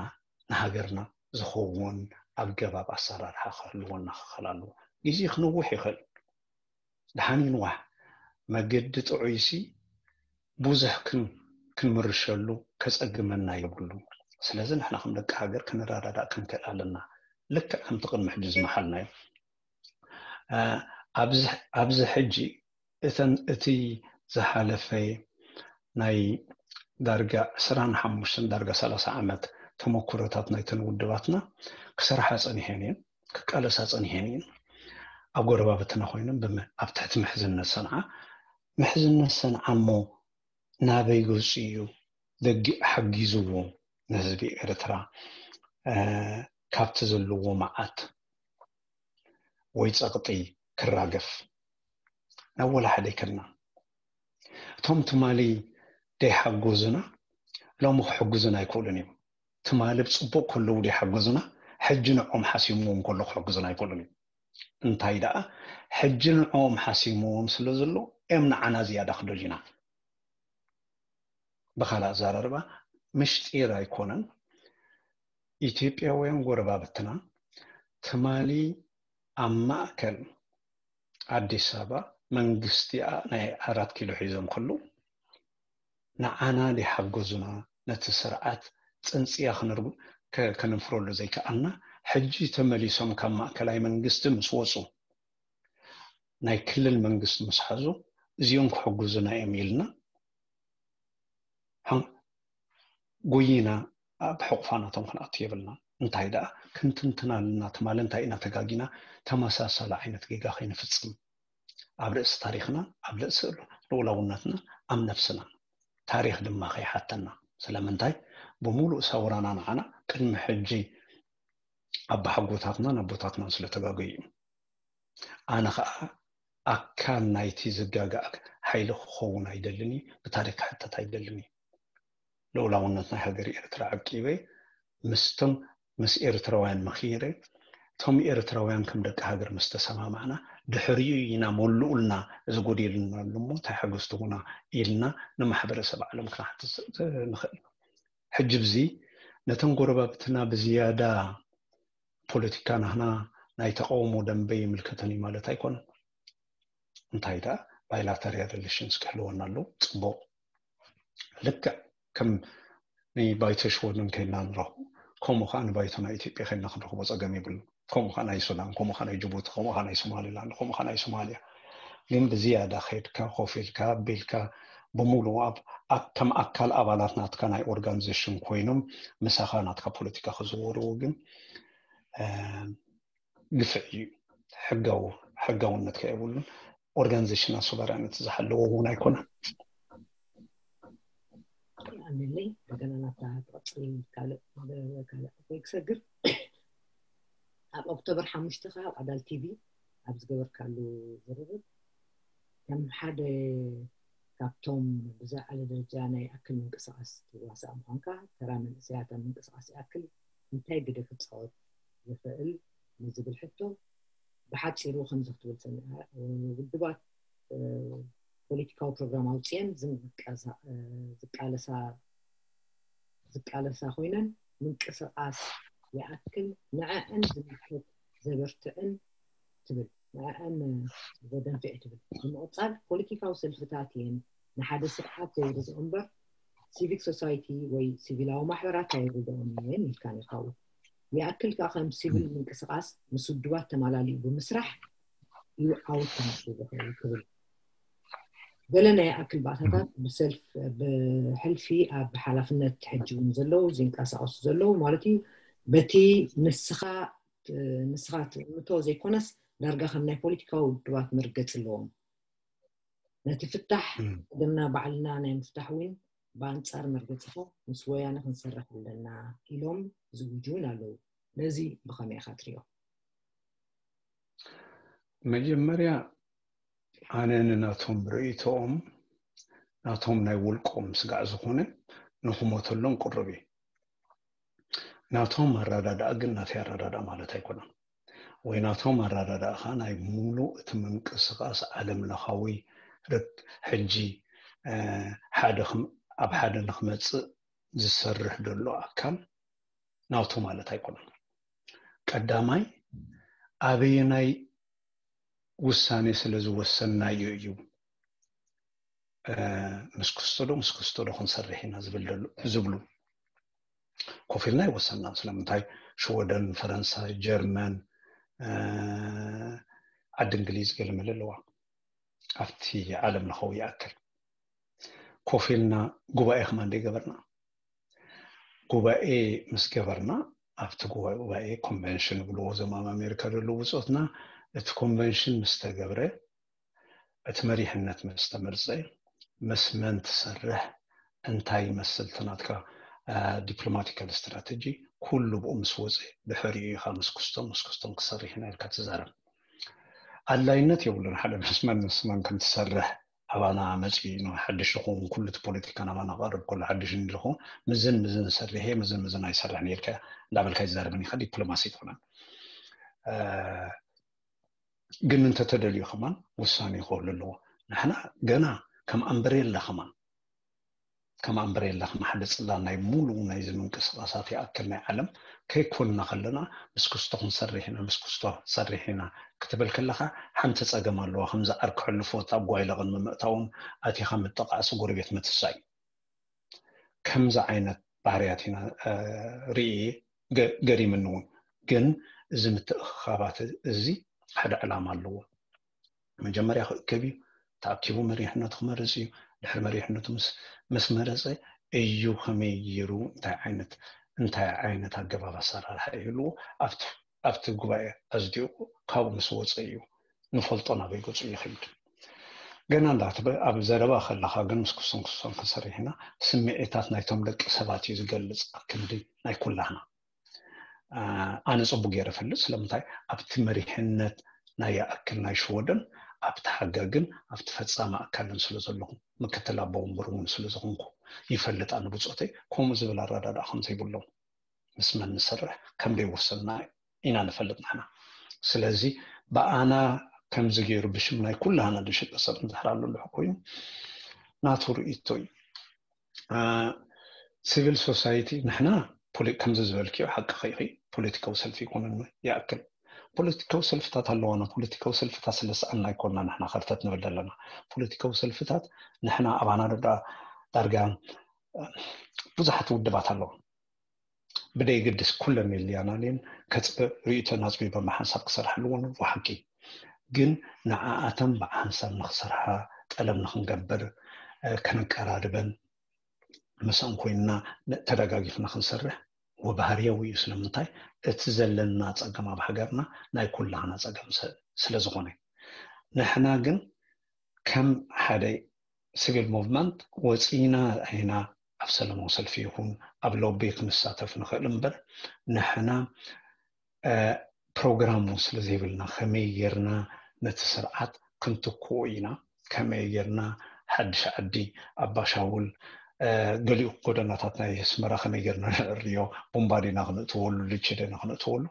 ንሃገርና ዝኸውን ኣገባብ ኣሰራርሓ ክህልወና ክኽእል ኣለዎ። ግዜ ክነውሕ ይኽእል። ደሓን ይንዋሕ። መገዲ ጥዑይሲ ብዙሕ ክን-፣ ክንምርሸሉ ከጸግመና የብሉን። ስለዚ ንሕና ከም ደቂ ሃገር ክንረዳዳእ ክንክእል ኣለና። ልክዕ ከምቲ ቅድሚ ሕጂ ዝመሓልናዮ። እ፣ ኣብዚ፣ ኣብዚ ሕጂ እተን፣ እቲ ዝሓለፈ ናይ ዳርጋ ዕስራን ሓሙሽተን ዳርጋ ሰላሳ ዓመት ተመኩሮታት ናይተን ውድባትና ክሰርሓ ጸኒሐን እየን፣ ክቃለሳ ጸኒሐን እየን። ኣብ ጎረባብትና ኮይነን ብመ-፣ ኣብ ትሕቲ ምሕዝነት ሰንዓ፣ ምሕዝነት ሰንዓ እሞ ናበይ ገጹ እዩ ደጊ-፣ ሓጊዝዎ ንህዝቢ ኤርትራ፣ እ፣ ካብቲ ዘለዎ መዓት ወይ ጸቕጢ ክራገፍ ናብ ወላ ሓደ ኣይከድና። እቶም ትማሊ ደይሓጎዙና ሎሚ ክሕግዙና ኣይክእሉን እዮም። ትማሊ ብጽቡቕ ከለዉ ደይሓገዙና ሕጂ ንዕኦም ሓሲምዎም ከሎ ክሕግዙና ኣይክእሉን እዮም። እንታይ ደኣ ሕጂ ንዕኦም ሓሲምዎም ስለ ዘሎ እዮም ንዓና ዝያዳ ክደልዩና። ብኻልእ ኣዘራርባ ምሽጢር ኣይኮነን። ኢትዮጵያውያን ጎረባብትና ትማሊ ኣብ ማእከል ኣዲስ ኣበባ መንግስቲ ኣ-፣ ናይ ኣራት ኪሎ ሒዞም ከለዉ ንዓና ደይሓገዙና ነቲ ስርዓት ጽንጽያ ክንርጉ-፣ ከ-፣ ከነንፍረሉ ዘይከኣልና ሕጂ ተመሊሶም ካብ ማእከላይ መንግስቲ ምስ ወጹ ናይ ክልል መንግስቲ ምስ ሓዙ እዚኦም ክሕግዙና እዮም ኢልና ሓን-፣ ጎይና ኣብ ሕቑፋ ናቶም ክንኣቱ የብልና። እንታይ ደኣ ክንትንትን ኣለና፣ ትማሊ እንታይ ኢና ተጋጊና ተመሳሳሊ ዓይነት ጌጋ ከይንፍጽም። ኣብ ርእሲ ታሪኽና፣ ኣብ ርእሲ ልኡላውነትና፣ ኣብ ነፍስና። ታሪኽ ድማ ከይሓተና። ስለምንታይ? ብምሉእ ሰውራና ንዓና ቅድሚ ሕጂ ኣባሓጎታትናን ኣቦታትናን ስለ ተጋገዩ እዩ። ኣነ ኸኣ ኣካል ናይቲ ዝጋጋእ ሓይሊ ክኸውን ኣይደልን እዩ፣ ብታሪኽ ክሕተት ኣይደልን እዩ። ልኡላውነት ናይ ሃገር ኤርትራ ዓቂበ፣ ምስቶም፣ ምስ ኤርትራውያን መኺረ፣ እቶም ኤርትራውያን ከም ደቂ ሃገር ምስ ተሰማማዕና፣ ድሕሪኡ ኢና መሉኡልና፣ እዚ ጎዲሉና ኣሎ እሞ እንታይ ሓገዝ ትሁና ኢልና ንማሕበረሰብ ዓለም ክንሓትት ንኽእል። ሕጂ ብዚ ነተን ጎረባብትና ብዝያዳ ፖለቲካ ናህና ናይ ተቃውሞ ደንበ ይምልከተን እዩ ማለት ኣይኮነን። እንታይ ደኣ ባይላተሪያል ሪሌሽንስ ክህልወና ኣለዎ፣ ጽቡቕ። ልክዕ ከም ንባይቶ ሽወደን ከይድና ንረኽቦ፣ ከምኡ ከኣ ንባይቶ ናይ ኢትዮጵያ ከይድና ክንረኽቦ ጸገም የብሉን። ከምኡ ከኣ ናይ ሱዳን፣ ከምኡ ከኣ ናይ ጅቡቲ፣ ከምኡ ከኣ ናይ ሶማሊላንድ፣ ከምኡ ከኣ ናይ ሶማልያ። ግን ብዝያዳ ከይድካ፣ ኮፍ ኢልካ፣ ኣቢልካ፣ ብምሉኡ ኣብ፣ ኣብ፣ ከም ኣካል ኣባላት ናትካ ናይ ኦርጋኒዜሽን ኮይኖም ምሳኻ ናትካ ፖለቲካ ክዝወርዎ ግን፣ እ፣ ግፍዒ እዩ። ሕጋዊ ሕጋውነት ከየብሉን organizational sovereignty ዝሓለዎ እውን ኣይኮነን። ኣነለይ እንደገና ናብታ ትቐፅል ካልእ ካልእ ወይ ክሰግር ኣብ ኦክቶበር ሓሙሽተ ከዓ ኣብ ኣዳል ቲቪ ኣብ ዝገበርካሉ ዝርርብ ከም ሓደ ካብቶም ብዝለዓለ ደረጃ ናይ ኣክል ምንቅስቃስ ትዋሳእ ምኳንካ ተራ መንእሰያት ኣብ ምንቅስቃስ ይኣክል እንታይ ግደ ክፃወት ይኽእል ንዝብል ሕቶ ብሓፂሩ ከምዚ ክትብል ሰሚዐ ውድባት ፖለቲካዊ ፕሮግራም ኣውፅኤን ዝቃለሳ ኮይነን ምንቅስቃስ ይኣክል ንዐዐን ዝምልከት ዘበርትዕን ትብል ንዐዐን ዘደንፍዕ ትብል ብምቕፃል ፖለቲካዊ ሰልፍታት እየን ንሓደ ስርዓት ዘውርዶ እምበር ሲቪክ ሶሳይቲ ወይ ሲቪላዊ ማሕበራት ኣይርድኦም እየን ኢልካ ኔርካው ይኣክል ከዓ ከም ሲቪል ምንቅስቃስ ምስ ውድባት ተማላሊኡ ብምስራሕ እዩ ዓወት ክመፅእ ዝኽእል ትብል ገለ ናይ ኣክል ባእታታት ብሰልፍ ብሕልፊ ኣብ ሓላፍነት ሕጂ እውን ዘለዉ ዝንቀሳቀሱ ዘለዉ ማለት እዩ በቲ ንስኻ ንስኻ ትእምቶ ዘይኮነስ ዳርጋ ከም ናይ ፖለቲካዊ ውድባት መርገፂ ኣለዎም ነቲ ፍታሕ ደምና ባዕልና ናይ ምፍታሕ እውን ብኣንፃር መርገፂኻ ምስ ወያነ ክንሰርሕ ኣለና ኢሎም ዝውጁ እውን ኣለዉ ነዚ ብኸመይ ኢኻ ትሪኦ መጀመርያ ኣነ ንናቶም ርእይቶኦም ናቶም ናይ ውልቆም ስጋዕ ዝኾነ ንክሞተሎም ቅሩብ እዩ ናቶም ኣረዳድኣ ግን ናተይ ኣረዳድኣ ማለት ኣይኮነን ወይ ናቶም ኣረዳድኣ ከዓ ናይ ሙሉእ እቲ ምንቅስቃስ ዓለም ለኻዊ ርክ ሕጂ ሓደ ኣብ ሓደ ንክመፅእ ዝሰርሕ ዘሎ ኣካል ናቱ ማለት ኣይኮነን ቀዳማይ ኣበየናይ ውሳኔ ስለ ዝወሰናዮ እዩ ምስ ክስቶ ዶ ምስ ክስቶ ዶ ክንሰርሕ ኢና ዝብል ዝብሉ ኮፍ ኢልና ይወሰና ስለምንታይ ሽወደን ፈረንሳይ ጀርመን ዓዲ እንግሊዝ ገለመለ ኣለዋ ኣብቲ ዓለም ለኸው ይኣክል ኮፍ ኢልና ጉባኤ ከማን ገበርና ጉባኤ ምስ ገበርና ኣብቲ ጉባኤ ኮንቨንሽን ብልዎ ዞም ኣብ ኣሜሪካ ዘለዉ ብፆትና እቲ ኮንቨንሽን ምስ ተገብረ እቲ መሪሕነት ምስ ተመርፀ ምስ መን ትሰርሕ እንታይ ይመስል እቲ ናትካ ዲፕሎማቲካል ስትራተጂ ኩሉ ብኡ ምስ ወፀ ድሕሪኡ ኢኻ ምስ ክስቶም ምስ ክስቶም ክሰርሕ ኢና ኢልካ ትዛረብ ኣድላይነት የብሉን ሓደ ምስ መን ምስ መን ከም ትሰርሕ ኣባና መፂኡ ሓድሽ ዝኸውን ኩሉ እቲ ፖለቲካ ናባና ክቐርብ ከሎ ሓድሽ እንድኹ ምዝን ምዝን ሰርሕ እየ ምዝን ምዝን ኣይሰርሕን ኢልካ እንዳበልካ ይዛረብን ኢኻ ዲፕሎማሲ ኣይኮነን ግን እንተተደልዩ ከማን ውሳኔ ክህሉ ኣለዎ ንሕና ገና ከም ኣምበሬላ ከማን ከም ኣምበሬላ ከም ሓደ ፅላል ናይ ሙሉእ ናይዚ ምንቅስቃሳት ይኣክል ናይ ዓለም ከይኮንና ከለና ምስ ክስቶ ክንሰርሕ ኢና ምስ ክስቶ ክንሰርሕ ኢና ክትብል ከለካ ሓንቲ ፀገም ኣለዋ ከምዚ ዓርኪ ሕልፎት ኣብ ጓይላ ቅድሚ ምእታዎም ኣቲካ ምጥቃዕሲ ጎረቤት ምትሳይ ከምዚ ዓይነት ባህርያት ኢና ርኢ ገሪምኒ እውን ግን እዚ ምትእኽኻባት እዚ ሓደ ዕላማ ኣለዎ መጀመርያ ክእከብ እዩ ተኣኪቡ መሪሕነቱ ክመርፅ እዩ ድሕሪ መሪሕነቱ ምስ መረፀ እዩ ከመይ ገይሩ እንታይ ዓይነት እንታይ ዓይነት ኣገባብ ኣሰራርሓ ይህልዎ ኣብቲ ጉባኤ ኣዝዲቑ ካብኡ ምስ ወፀ እዩ ንፈልጦ ናበይ ገፁ ይኸይድ ገና እንዳ ኣብ ዘረባ ከለካ ግን ምስ ክሶም ክሶም ክሰርሕና ስምዒታት ናይቶም ደቂ ሰባት እዩ ዝገልፅ ኣብ ክንዲ ናይ ኩላህና ኣነ ፅቡቅ ገይረ ፈልጥ ስለምንታይ ኣብቲ መሪሕነት ናይ ይኣክል ናይ ሽወደን ኣብቲ ሓጋግን ኣብቲ ፈፃሚ ኣካልን ስለ ዘለኹ ምክትል ኣቦ ወንበር እውን ስለ ዝኾንኩ ይፈልጥ ኣነ ብፆተይ ከምኡ ዝብል ኣረዳድኣ ከም ዘይብሎም ምስ መን ንሰርሕ ከም ደይወሰንና ኢና ንፈልጥ ንሕና ስለዚ ብኣና ከምዚ ገይሩ ብሽም ናይ ኩላህና ዝሽቀ ሰብ እንድሕር ኣሎ ልሑ ኮይኑ ናቱ ርእይቶ እዩ ሲቪል ሶሳይቲ ንሕና ከምዚ ዝበልክዮ ሓቂ ከይኺ ፖለቲካዊ ሰልፊ ይኮነን ይኣክል ፖለቲካዊ ሰልፍታት ኣለዋና ፖለቲካዊ ሰልፍታት ስለስኣና ኣይኮንና ንሕና ከርተት ንብል ዘለና ፖለቲካዊ ሰልፍታት ንሕና ኣባና ዳ ዳርጋ ብዙሓት ውድባት ኣለዋ ብደይግድስ ኩለን የልያናልን ከፅበ ርእይቶን ኣፅቢበ ሓንሳብ ክሰርሓሉ እውን ብሓቂ ግን ንዓኣተን ብሓንሳብ ንክሰርሓ ጠለብ ንክንገብር ከነቀራርበን ምስአን ኮይንና ተደጋጊፍና ክንሰርሕ ወባህርያዊ እዩ። ስለምንታይ? እቲ ዘለና ጸገም ኣብ ሃገርና ናይ ኩላህና ጸገም ስለ ዝኾነ፣ ንሕና ግን ከም ሓደ ሲቪል ሙቭመንት ወፂና ኢና ኣብ ሰለማዊ ሰልፊ ይኹን ኣብ ሎቢ ክንሳተፍ ንኽእል እምበር፣ ንሕና ፕሮግራም እውን ስለ ዘይብልና፣ ከመይ ጌርና ነቲ ስርዓት ክንትክኡ ኢና፣ ከመይ ጌርና ሓድሽ ዓዲ፣ ኣባሻውል፣ ገሊኡ ጎደናታት ናይ ኣስመራ ከመይ ጌርና ንዕርዮ፣ ቡምባ ዲና ክነእትወሉ፣ ልቺ ዲና ክነእትወሉ፣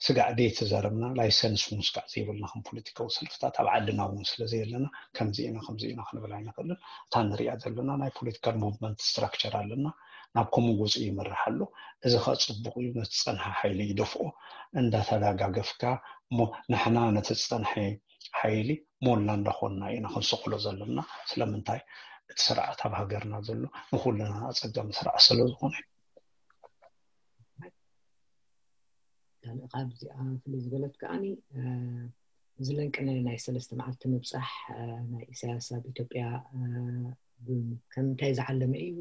ስጋዕ ደይተዛረብና፣ ላይሰንስ እውን ስጋዕ ዘይብልና ከም ፖለቲካዊ ሰልፍታት ኣብ ዓድና እውን ስለ ዘየለና፣ ከምዚ ኢና ከምዚ ኢና ክንብል ኣይንኽእልን። እታ ንሪኣ ዘለና ናይ ፖለቲካል ሙቭመንት ስትራክቸር ኣለና፣ ናብ ከምኡ ገፁ ይመርሕ ኣሎ። እዚ ኸ ፅቡቕ እዩ፣ ነቲ ዝፀንሐ ሓይሊ ይደፍኦ። እንዳተደጋገፍካ እሞ ንሕና ነቲ ዝፀንሐ ሓይሊ ሞላ እንዳኾንና ኢና ክንስቕሎ ዘለና። ስለምንታይ? እቲ ስርዓት ኣብ ሃገርና ዘሎ ንኹልና ኣፀጋሚ ስርዓት ስለ ዝኾነ። ካብዚኣ ፍልይ ዝበለት ከዓኒ፣ እዚ ለንቅነ ናይ ሰለስተ መዓልቲ ምብፃሕ ናይ ኢሳያስ ኣብ ኢትዮጵያ ከምንታይ ዝዓለመ እዩ?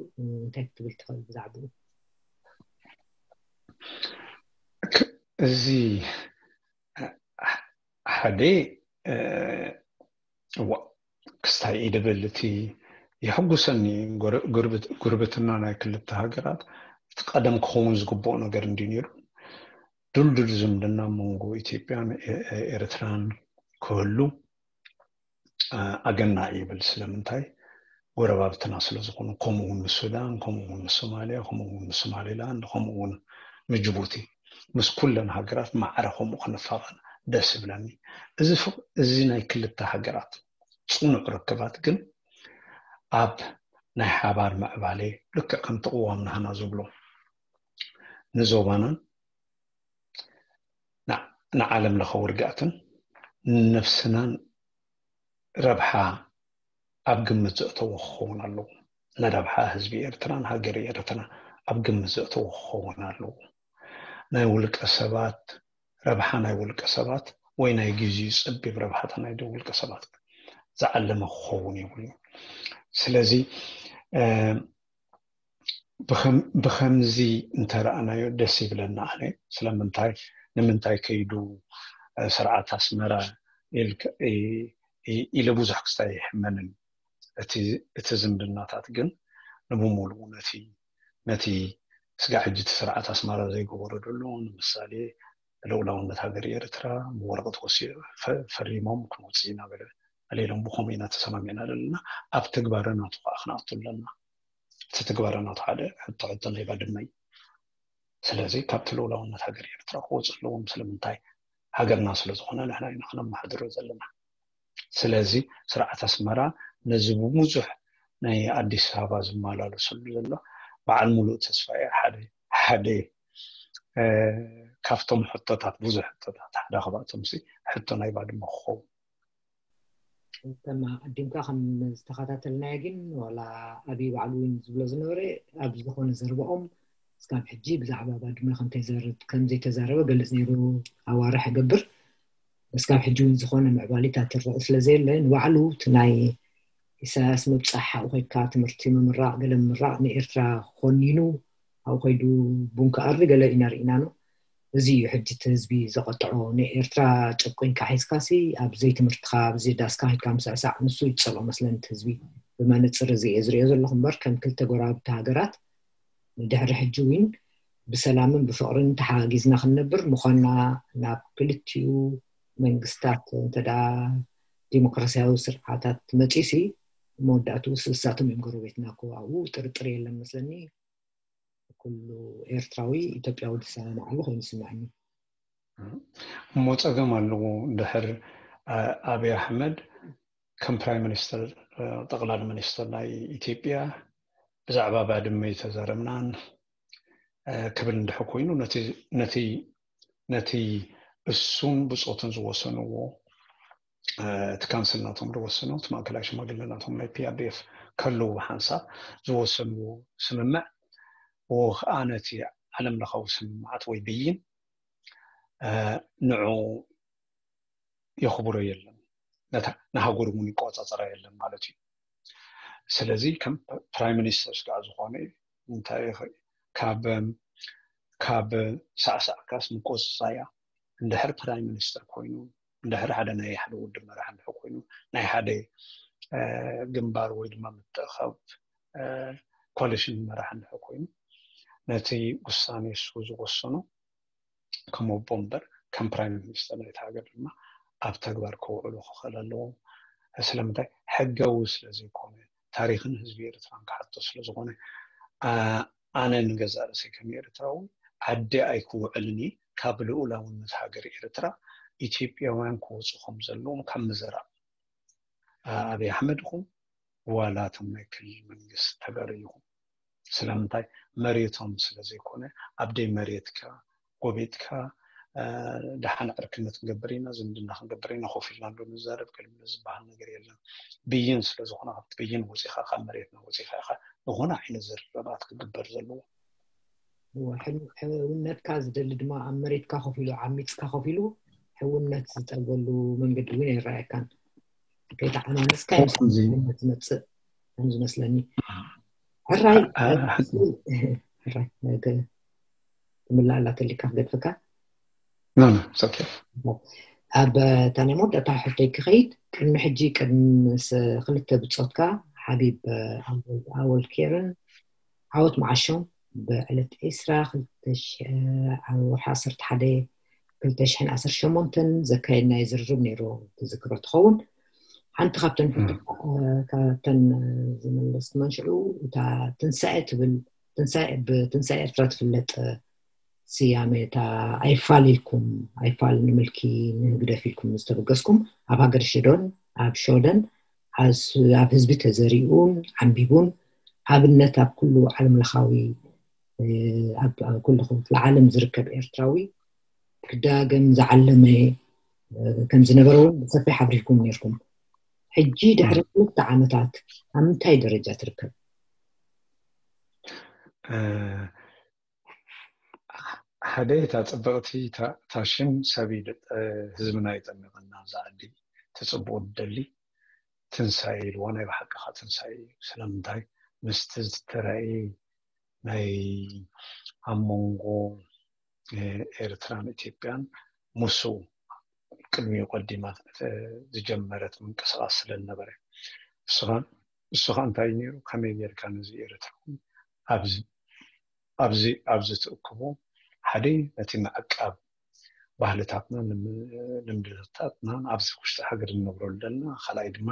እንታይ ክትብል ትኽእል ብዛዕባኡ? እዚ ሓደ ክስታይ ኢድብል እቲ የሕጉሰኒ ጉርብትና ናይ ክልተ ሃገራት እቲ ቀደም ክኸውን ዝግብኦ ነገር እንዲ ነይሩ። ድልድል ዝምድና መንጎ ኢትዮጵያን ኤርትራን ክህሉ ኣገና ይብል። ስለምንታይ? ጎረባብትና ስለ ዝኾኑ፣ ከምኡ እውን ንሱዳን፣ ከምኡ እውን ንሶማልያ፣ ከምኡ እውን ንሶማሊላንድ፣ ከምኡ እውን ንጅቡቲ፣ ምስ ኩለን ሃገራት ማዕረ ከምኡ ክንፋቐር ደስ ይብለኒ። እዚ ናይ ክልተ ሃገራት ፅኑዕ ርክባት ግን ኣብ ናይ ሓባር ምዕባለ፣ ልክዕ ከምቲ ቅዋም ናህና ዝብሎ፣ ንዞባናን ንዓለም ለኸ ውርጋትን ንነብስናን ረብሓ ኣብ ግምት ዘእተወ ክኸውን ኣለዎ። ንረብሓ ህዝቢ ኤርትራን ሃገር ኤርትራ ኣብ ግምት ዘእተወ ክኸውን ኣለዎ። ናይ ውልቀ ሰባት ረብሓ፣ ናይ ውልቀ ሰባት ወይ ናይ ግዜኡ ጸቢብ ረብሓታት ናይ ውልቀ ሰባት ዝዓለመ ክኸውን የብሉን። ስለዚ ብኸምዚ እንተረኣናዮ ደስ ይብለና። ኣነ ስለምንታይ፣ ንምንታይ ከይዱ ስርዓት ኣስመራ ኢለ ብዙሕ ክስታይ ኣይሕመንን። እቲ ዝምድናታት ግን ንብሙሉኡ ነቲ ነቲ ስጋዕ ሕጂ እቲ ስርዓት ኣስመራ ዘይገበሮ ዘሎ፣ ንምሳሌ ልኡላውነት ሃገር ኤርትራ ብወረቐት ወሲኡ ፈሪሞም ክንወፅእ ኢና በለ ኣለ ኢሎም ብኸምኡ ኢና ተሰማሚዕና ዘለና። ኣብ ትግባረ ናቱ ከዓ ክንኣቱ ኣለና። እቲ ትግባረ ናቱ ሓደ ሕቶ ሕቶ ናይ ባድመ እዩ። ስለዚ ካብቲ ልኡላውነት ሃገር ኤርትራ ክወፁ ኣለዎም። ስለምንታይ? ሃገርና ስለ ዝኾነ ንሕና ኢና ክነመሓድሮ ዘለና። ስለዚ ስርዓት ኣስመራ ነዚ ብብዙሕ ናይ ኣዲስ ኣበባ ዝመላለሰሉ ዘሎ በዓል ሙሉእ ተስፋ እየ ሓደ ሓደ ካብቶም ሕቶታት፣ ብዙሕ ሕቶታት ሓደ ካብኣቶም ሲ ሕቶ ናይ ባድመ ክኸውን። ከም ኣቀዲምካ ከም ዝተኸታተልናዮ ግን ዋላ ኣብይ ባዕሉ እውን ዝብሎ ዝነበረ ኣብ ዝኾነ ዘረባኦም እስካብ ሕጂ ብዛዕባ ባድመ ከም ዘይተዛረበ ገልፅ ነይሩ። ኣዋርሕ ይገብር እስካብ ሕጂ እውን ዝኾነ ምዕባሊታት ይረአ ስለ ዘየለ ንባዕሉ እቲ ናይ ኢሳያስ ምብፃሕ ኣብኡ ኮይድካ ትምህርቲ ምምራቕ ገለ ምምራቕ ንኤርትራ ኮኒኑ ኣብኡ ኮይዱ ቡን ክኣሪ ገለ ኢና ርኢና ነው። እዚ እዩ ሕጂ እቲ ህዝቢ ዘቐጥዖ። ንኤርትራ ጨቁንካ ሒዝካሲ ኣብ ዘይትምህርትኻ ኣብ ዘይዳስካ ሂድካ ምስዕሳዕ ንሱ እዩ ዝፀልኦ መስለኒ እቲ ህዝቢ። ብመነፅር እዚ እየ ዝሪኦ ዘለኹ እምበር ከም ክልተ ጎረባብቲ ሃገራት ንድሕሪ ሕጂ እውን ብሰላምን ብፍቕርን ተሓጋጊዝና ክንነብር ምዃንና ናብ ክልቲኡ መንግስታት እንተ ደኣ ዲሞክራሲያዊ ስርዓታት መጺኡሲ መወዳእትኡ ስሳቶም እዮም ጎረቤትና እኮ ኣብኡ ጥርጥር የለን መስለኒ። ኩሉ ኤርትራዊ ኢትዮጵያዊ ዝሰማማዓሉ ኮይኑ ይስምዐኒ። እሞ ጸገም ኣለዎ እንድሕር ኣብይ ኣሕመድ ከም ፕራይም ሚኒስተር ጠቕላሊ ሚኒስተር ናይ ኢትዮጵያ ብዛዕባ ባድመ ኣይተዛረብናን ክብል እንድሕር ኮይኑ ነቲ እሱን ብጾቱን ዝወሰንዎ እቲ ካንስል ናቶም ዝወሰኖ እቲ ማእከላይ ሽማግለ ናቶም ናይ ፒኣርዲኤፍ ከለዉ ብሓንሳብ ዝወሰንዎ ስምምዕ ወ ከዓ ነቲ ዓለም ለኻዊ ስምምዓት ወይ ብይን ንዑ የኽብሮ የለን፣ ንሃገሩ እውን ይቆፃፀራ የለን ማለት እዩ። ስለዚ ከም ፕራይም ሚኒስተር ስጋዕ ዝኾነ እንታይ ካብ ካብ ሳዕሳዕካስ ምቆፅፃያ። እንድሕር ፕራይም ሚኒስተር ኮይኑ፣ እንድሕር ሓደ ናይ ሓደ ውድብ መራሕ እንድሕር ኮይኑ፣ ናይ ሓደ ግንባር ወይ ድማ ምትእኻብ ኮሊሽን መራሕ እንድሕር ኮይኑ፣ ነቲ ውሳኔ እሱ ዝወሰኖ ከም ኣቦ እምበር ከም ፕራይም ሚኒስተር ናይቲ ሃገር ድማ ኣብ ተግባር ከውዕሉ ክኽእል ኣለዎም። ስለምንታይ? ሕጋዊ ስለ ዘይኮነ፣ ታሪኽን ህዝቢ ኤርትራን ክሓቶ ስለ ዝኾነ፣ ኣነ ንገዛእ ርእሰይ ከም ኤርትራዊ ዓዲ ኣይክውዕልን እየ። ካብ ልኡላውነት ሃገር ኤርትራ ኢትዮጵያውያን ክወፁ ከም ዘለዎም ካብ ምዝራብ ኣብይ ኣሕመድ ይኹን ዋላ እቶም ናይ ክልል መንግስቲ ተጋሩ ይኹን። ስለምንታይ? መሬቶም ስለ ዘይኮነ ኣብ ደይ መሬትካ ጎቢጥካ ደሓን ዕርክነት ክንገብር ኢና፣ ዝምድና ክንገብር ኢና፣ ኮፍ ኢልና ዶ ንዛረብ ከልብሎ ዝበሃል ነገር የለን። ብይን ስለ ዝኾነ ካብቲ ብይን ወፂኻ ካብ መሬትና ወፂኻ ኢኻ ዝኾነ ዓይነት ዝርርባት ክግበር ዘለዎ። ሕውነትካ ዝደሊ ድማ ኣብ መሬትካ ኮፍ ኢሉ ዓሚፅካ ኮፍ ኢሉ ሕውነት ዝጠልበሉ መንገዲ እውን ኣይረኣየካን። ከይተዓናነስካ ዝመፅእ ከም ዝመስለኒ። ሕራይ ትምላእ ኣላ ተሊካ ክገድፈካ። ኣብ እታ ናይ መወዳእታ ሕቶይ ክኸይድ ቅድሚ ሕጂ ቅድሚ ክልተ ብፆትካ ሓቢብ ኣወል ኬርን ዓወት መዓሾም ብዕለት ዒስራ ኣብ ወርሒ ዓሰርተ ሓደ ክልተ ሽሕን ዓሰርተ ሸሞንተን ዘካየድናዮ ዝርርብ ነይሩ ትዝክሮ ትኸውን። ሓንቲ ካብተን ሕቶ ካብተን ዝመለስክመን ሽዑ እታ ትንሳኤ ትብል ትንሳኤ ብትንሳኤ ኤርትራ ትፍለጥ ስያሜ እታ ኣይፋል ኢልኩም ኣይፋል ንምልኪ ንህግደፍ ኢልኩም ዝተበገስኩም ኣብ ሃገር ሽዶን ኣብ ሾደን ኣብ ህዝቢ ተዘሪኡን ዓንቢቡን ኣብነት ኣብ ኩሉ ዓለም ለኻዊ ኣብ ኩሉ ክፍለ ዓለም ዝርከብ ኤርትራዊ ክዳገም ዝዓለመ ከም ዝነበረ እውን ብሰፊሕ ኣብሪህኩም ነርኩም። ሕጂ ድሕሪ ክልተ ዓመታት ኣብ ምንታይ ደረጃ ትርከብ? ሓደ እታ ፅብቕቲ ታሽም ሰብ ህዝብና ይጠምቀና ዝዓዲ ትፅብኡ ደሊ ትንሳኤ ኢልዎ ናይ ብሓቂ ከዓ ትንሳኤ እዩ። ስለምንታይ ምስቲ ዝተረእየ ናይ ኣብ መንጎ ኤርትራን ኢትዮጵያን ሙሱ ቅድሚኡ ቀዲማ ዝጀመረት ምንቅስቃስ ስለ ዝነበረ እሱ ከዓ እንታይ ነይሩ ከመይ ጌርካ ነዚ ኤርትራዊ ኣብዚ ኣብዚ ኣብዚ ትእክቦ ሓደ ነቲ ምዕቃብ ባህልታትና ልምድታትና ኣብዚ ውሽጢ ሃገር እንነብረሉ ዘለና ካልኣይ ድማ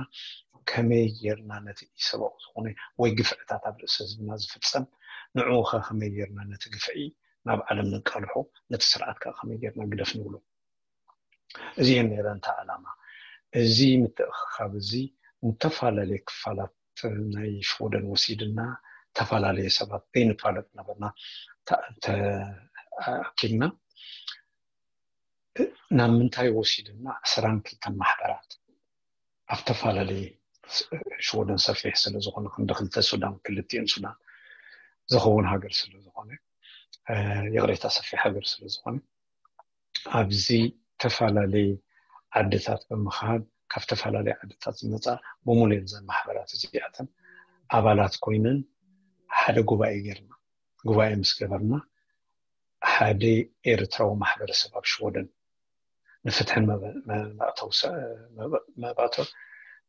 ከመይ ጌርና ነቲ ኢሰብኣዊ ዝኾነ ወይ ግፍዕታት ኣብ ርእሲ ህዝብና ዝፍጸም ንዕኡ ከ ከመይ ጌርና ነቲ ግፍዒ ናብ ዓለም ነቃልሖ ነቲ ስርዓት ከ ከመይ ጌርና ግደፍ ንብሎ እዚአን ነይረን እታ ዕላማ እዚ ምትእኽኻብ እዚ ንተፈላለየ ክፋላት ናይ ሽወደን ወሲድና ተፈላለየ ሰባት ዘይንፋለጥ ነበርና ተኣኪብና ናብ ምንታይ ወሲድና ዕስራን ክልተን ማሕበራት ኣብ ተፈላለየ ሽወደን ሰፊሕ ስለ ዝኾነ ክንዲ ክልተ ሱዳን ክልቲኡን ሱዳን ዝኸውን ሃገር ስለ ዝኾነ ይቕሬታ ሰፊሕ ሃገር ስለ ዝኾነ ኣብዚ ተፈላለየ ዓድታት ብምኻድ ካብ ተፈላለየ ዓድታት ዝመፃ ብምሉኤን ዘን ማሕበራት እዚኣተን ኣባላት ኮይነን ሓደ ጉባኤ ጌርና ጉባኤ ምስ ገበርና ሓደ ኤርትራዊ ማሕበረሰብ ኣብ ሽወደን ንፍትሕን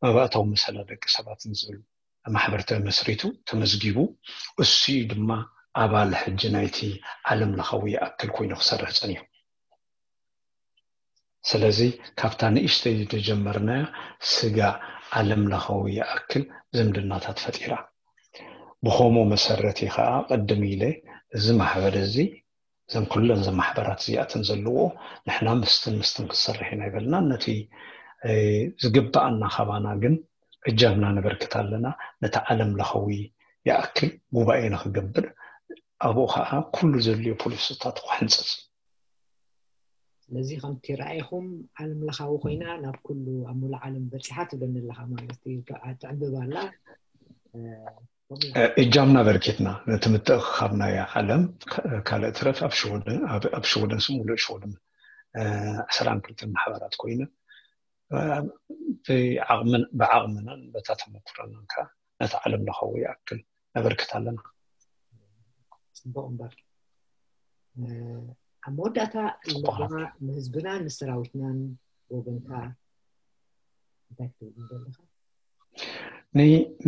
መባእታዊ መሰላ ደቂ ሰባትን ዝብል ማሕበር ተመስሪቱ ተመዝጊቡ እሱ ድማ ኣባል ሕጂ ናይቲ ዓለም ለኻዊ ይኣክል ኮይኑ ክሰርሕ ፀኒሑ ስለዚ ካብታ ንእሽተይ ዝጀመርናያ ስጋ ዓለም ለኻዊ ይኣክል ዝምድናታት ፈጢራ ብኸምኡ መሰረት ከዓ ቅድም ኢለ እዚ ማሕበር እዚ እዘን ኩለን እዘን ማሕበራት እዚኣተን ዘለዎ ንሕና ምስትን ምስትን ክንሰርሕ ኢና ይበልና ነቲ ዝግባኣና ካባና ግን እጃምና ነበርክት ኣለና ነቲ ዓለም ለኸዊ ይኣክል ጉባኤ ንክገብር ኣብኡ ከዓ ኩሉ ዘድልዮ ፖሊሲታት ክሕንፅፅ ስለዚ ከምቲ ረኣይኹም ዓለም ለኻዊ ኮይና ናብ ኩሉ ኣብ ሙሉ ዓለም በፂሓ ትብለኒ ኣለካ ማለት እዩ ትዕብብ ኣላ እጃምና በርኪትና ነቲ ምትእኽኻብ ናይ ዓለም ካልእ ትረፍ ኣብ ሽወደን ስም ሙሉእ ሽወደን ዕስራን ክልተን ማሕበራት ኮይነ ብዓቕምናን በታ ተመኩረናን ከዓ ነቲ ዓለም ለኻዊ ይኣክል ነበርክት ኣለና ፅቡቅ እምበር ኣብ መወዳእታ ንህዝብና ንሰራዊትናን ወገንካ እንታይ ክትብል ኣለካ?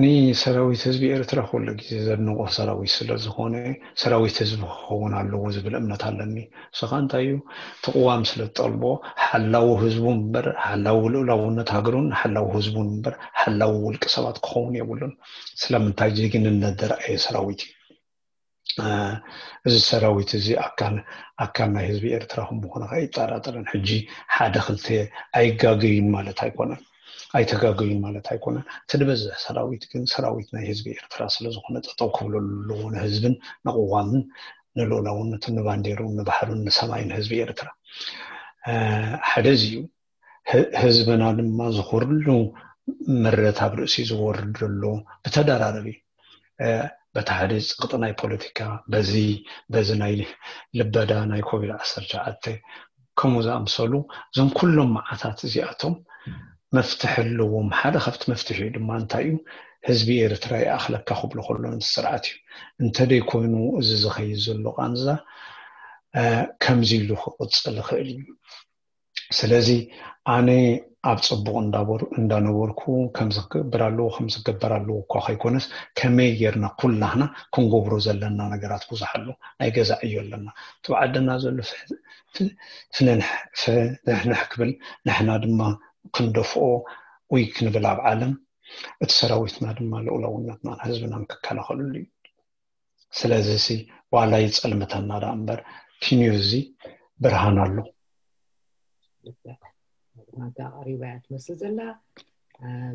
ንሰራዊት ህዝቢ ኤርትራ ኩሉ ግዜ ዘድንቆ ሰራዊት ስለዝኮነ ሰራዊት ህዝቢ ክኸውን ኣለዎ ዝብል እምነት ኣለኒ። ስኻ እንታይ እዩ ትቕዋም ስለ ትጠልቦ ሓላዊ ህዝቡ እምበር ሓላዊ ልኡላውነት ሃገሩን ሓላዊ ህዝቡን እምበር ሓላዊ ውልቂ ሰባት ክኸውን የብሉን። ስለምንታይ ጀግንነት ዘርኣየ ሰራዊት እዩ። እዚ ሰራዊት እዚ ኣካል ኣካል ናይ ህዝቢ ኤርትራ ከም ምኾነ ኣይጠራጠርን። ሕጂ ሓደ ክልተ ኣይጋገዩን ማለት ኣይኮነን፣ ኣይተጋገዩን ማለት ኣይኮነን። እቲ ዝበዝሕ ሰራዊት ግን ሰራዊት ናይ ህዝቢ ኤርትራ ስለዝኾነ ጠጠው ክብለሉ ኣለዎ ንህዝብን ንቕዋምን ንልኡላውነቱን ንባንዴሩን ንባሕሩን ንሰማይን ህዝቢ ኤርትራ። ሓደ እዚ እዩ። ህዝብና ድማ ዝኹርሉ ምረት ኣብ ርእሲ ዝወርድ ዘሎ ብተደራረቢ በቲ ሓደ ፀቕጢ ናይ ፖለቲካ በዚ በዚ ናይ ልበዳ ናይ ኮቪድ ዓሰርተ ትሽዓተ ከምኡ ዝኣምሰሉ እዞም ኩሎም መዓታት እዚኣቶም መፍትሒ ኣለዎም። ሓደ ካብቲ መፍትሒ ድማ እንታይ እዩ? ህዝቢ ኤርትራ ይኣኽለካ ክብሎ ከሎ ነቲ ስርዓት እዩ። እንተደይኮይኑ እዚ ዝኸይድ ዘሎ ቃንዛ ከምዚ ኢሉ ክቕፅል ይኽእል እዩ። ስለዚ ኣነ ኣብ ፅቡቕ እንዳነበርኩ ከምዚ ክገብር ኣለዎ ከምዚ ክገበር ኣለዎ እኳ ከይኮነስ ከመይ ጌርና ኩላህና ክንገብሮ ዘለና ነገራት ብዙሕ ኣሎ። ናይ ገዛ ዕዮ ኣለና። እቲ ብዓድና ዘሎ ፍንሕንሕ ክብል ንሕና ድማ ክንደፍኦ ወይ ክንብል ኣብ ዓለም እቲ ሰራዊትና ድማ ልኡላውነትናን ህዝብናን ክከላኸለሉ እዩ። ስለዚ ሲ ዋላ ይፀልምተና ደኣ እምበር ኪንዮ እዚ ብርሃን ኣሎ። ናታ ቀሪባ እያ ትመስል ዘላ።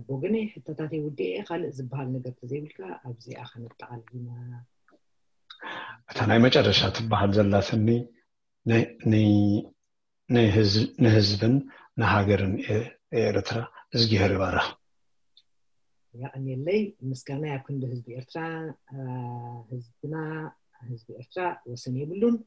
ብወገነይ ሕቶታተይ ውዲኤ ካልእ ዝበሃል ነገር ተዘይብልካ ኣብዚኣ ከነጠቓልል ኢና። እታ ናይ መጨረሻ ትበሃል ዘላትኒ ንህዝብን ንሃገርን ኤርትራ እዝጊሄር ይባርኽ። የቐንየለይ። ምስጋና ኣብ ክንዲ ህዝቢ ኤርትራ። ህዝብና ህዝቢ ኤርትራ ወሰን የብሉን።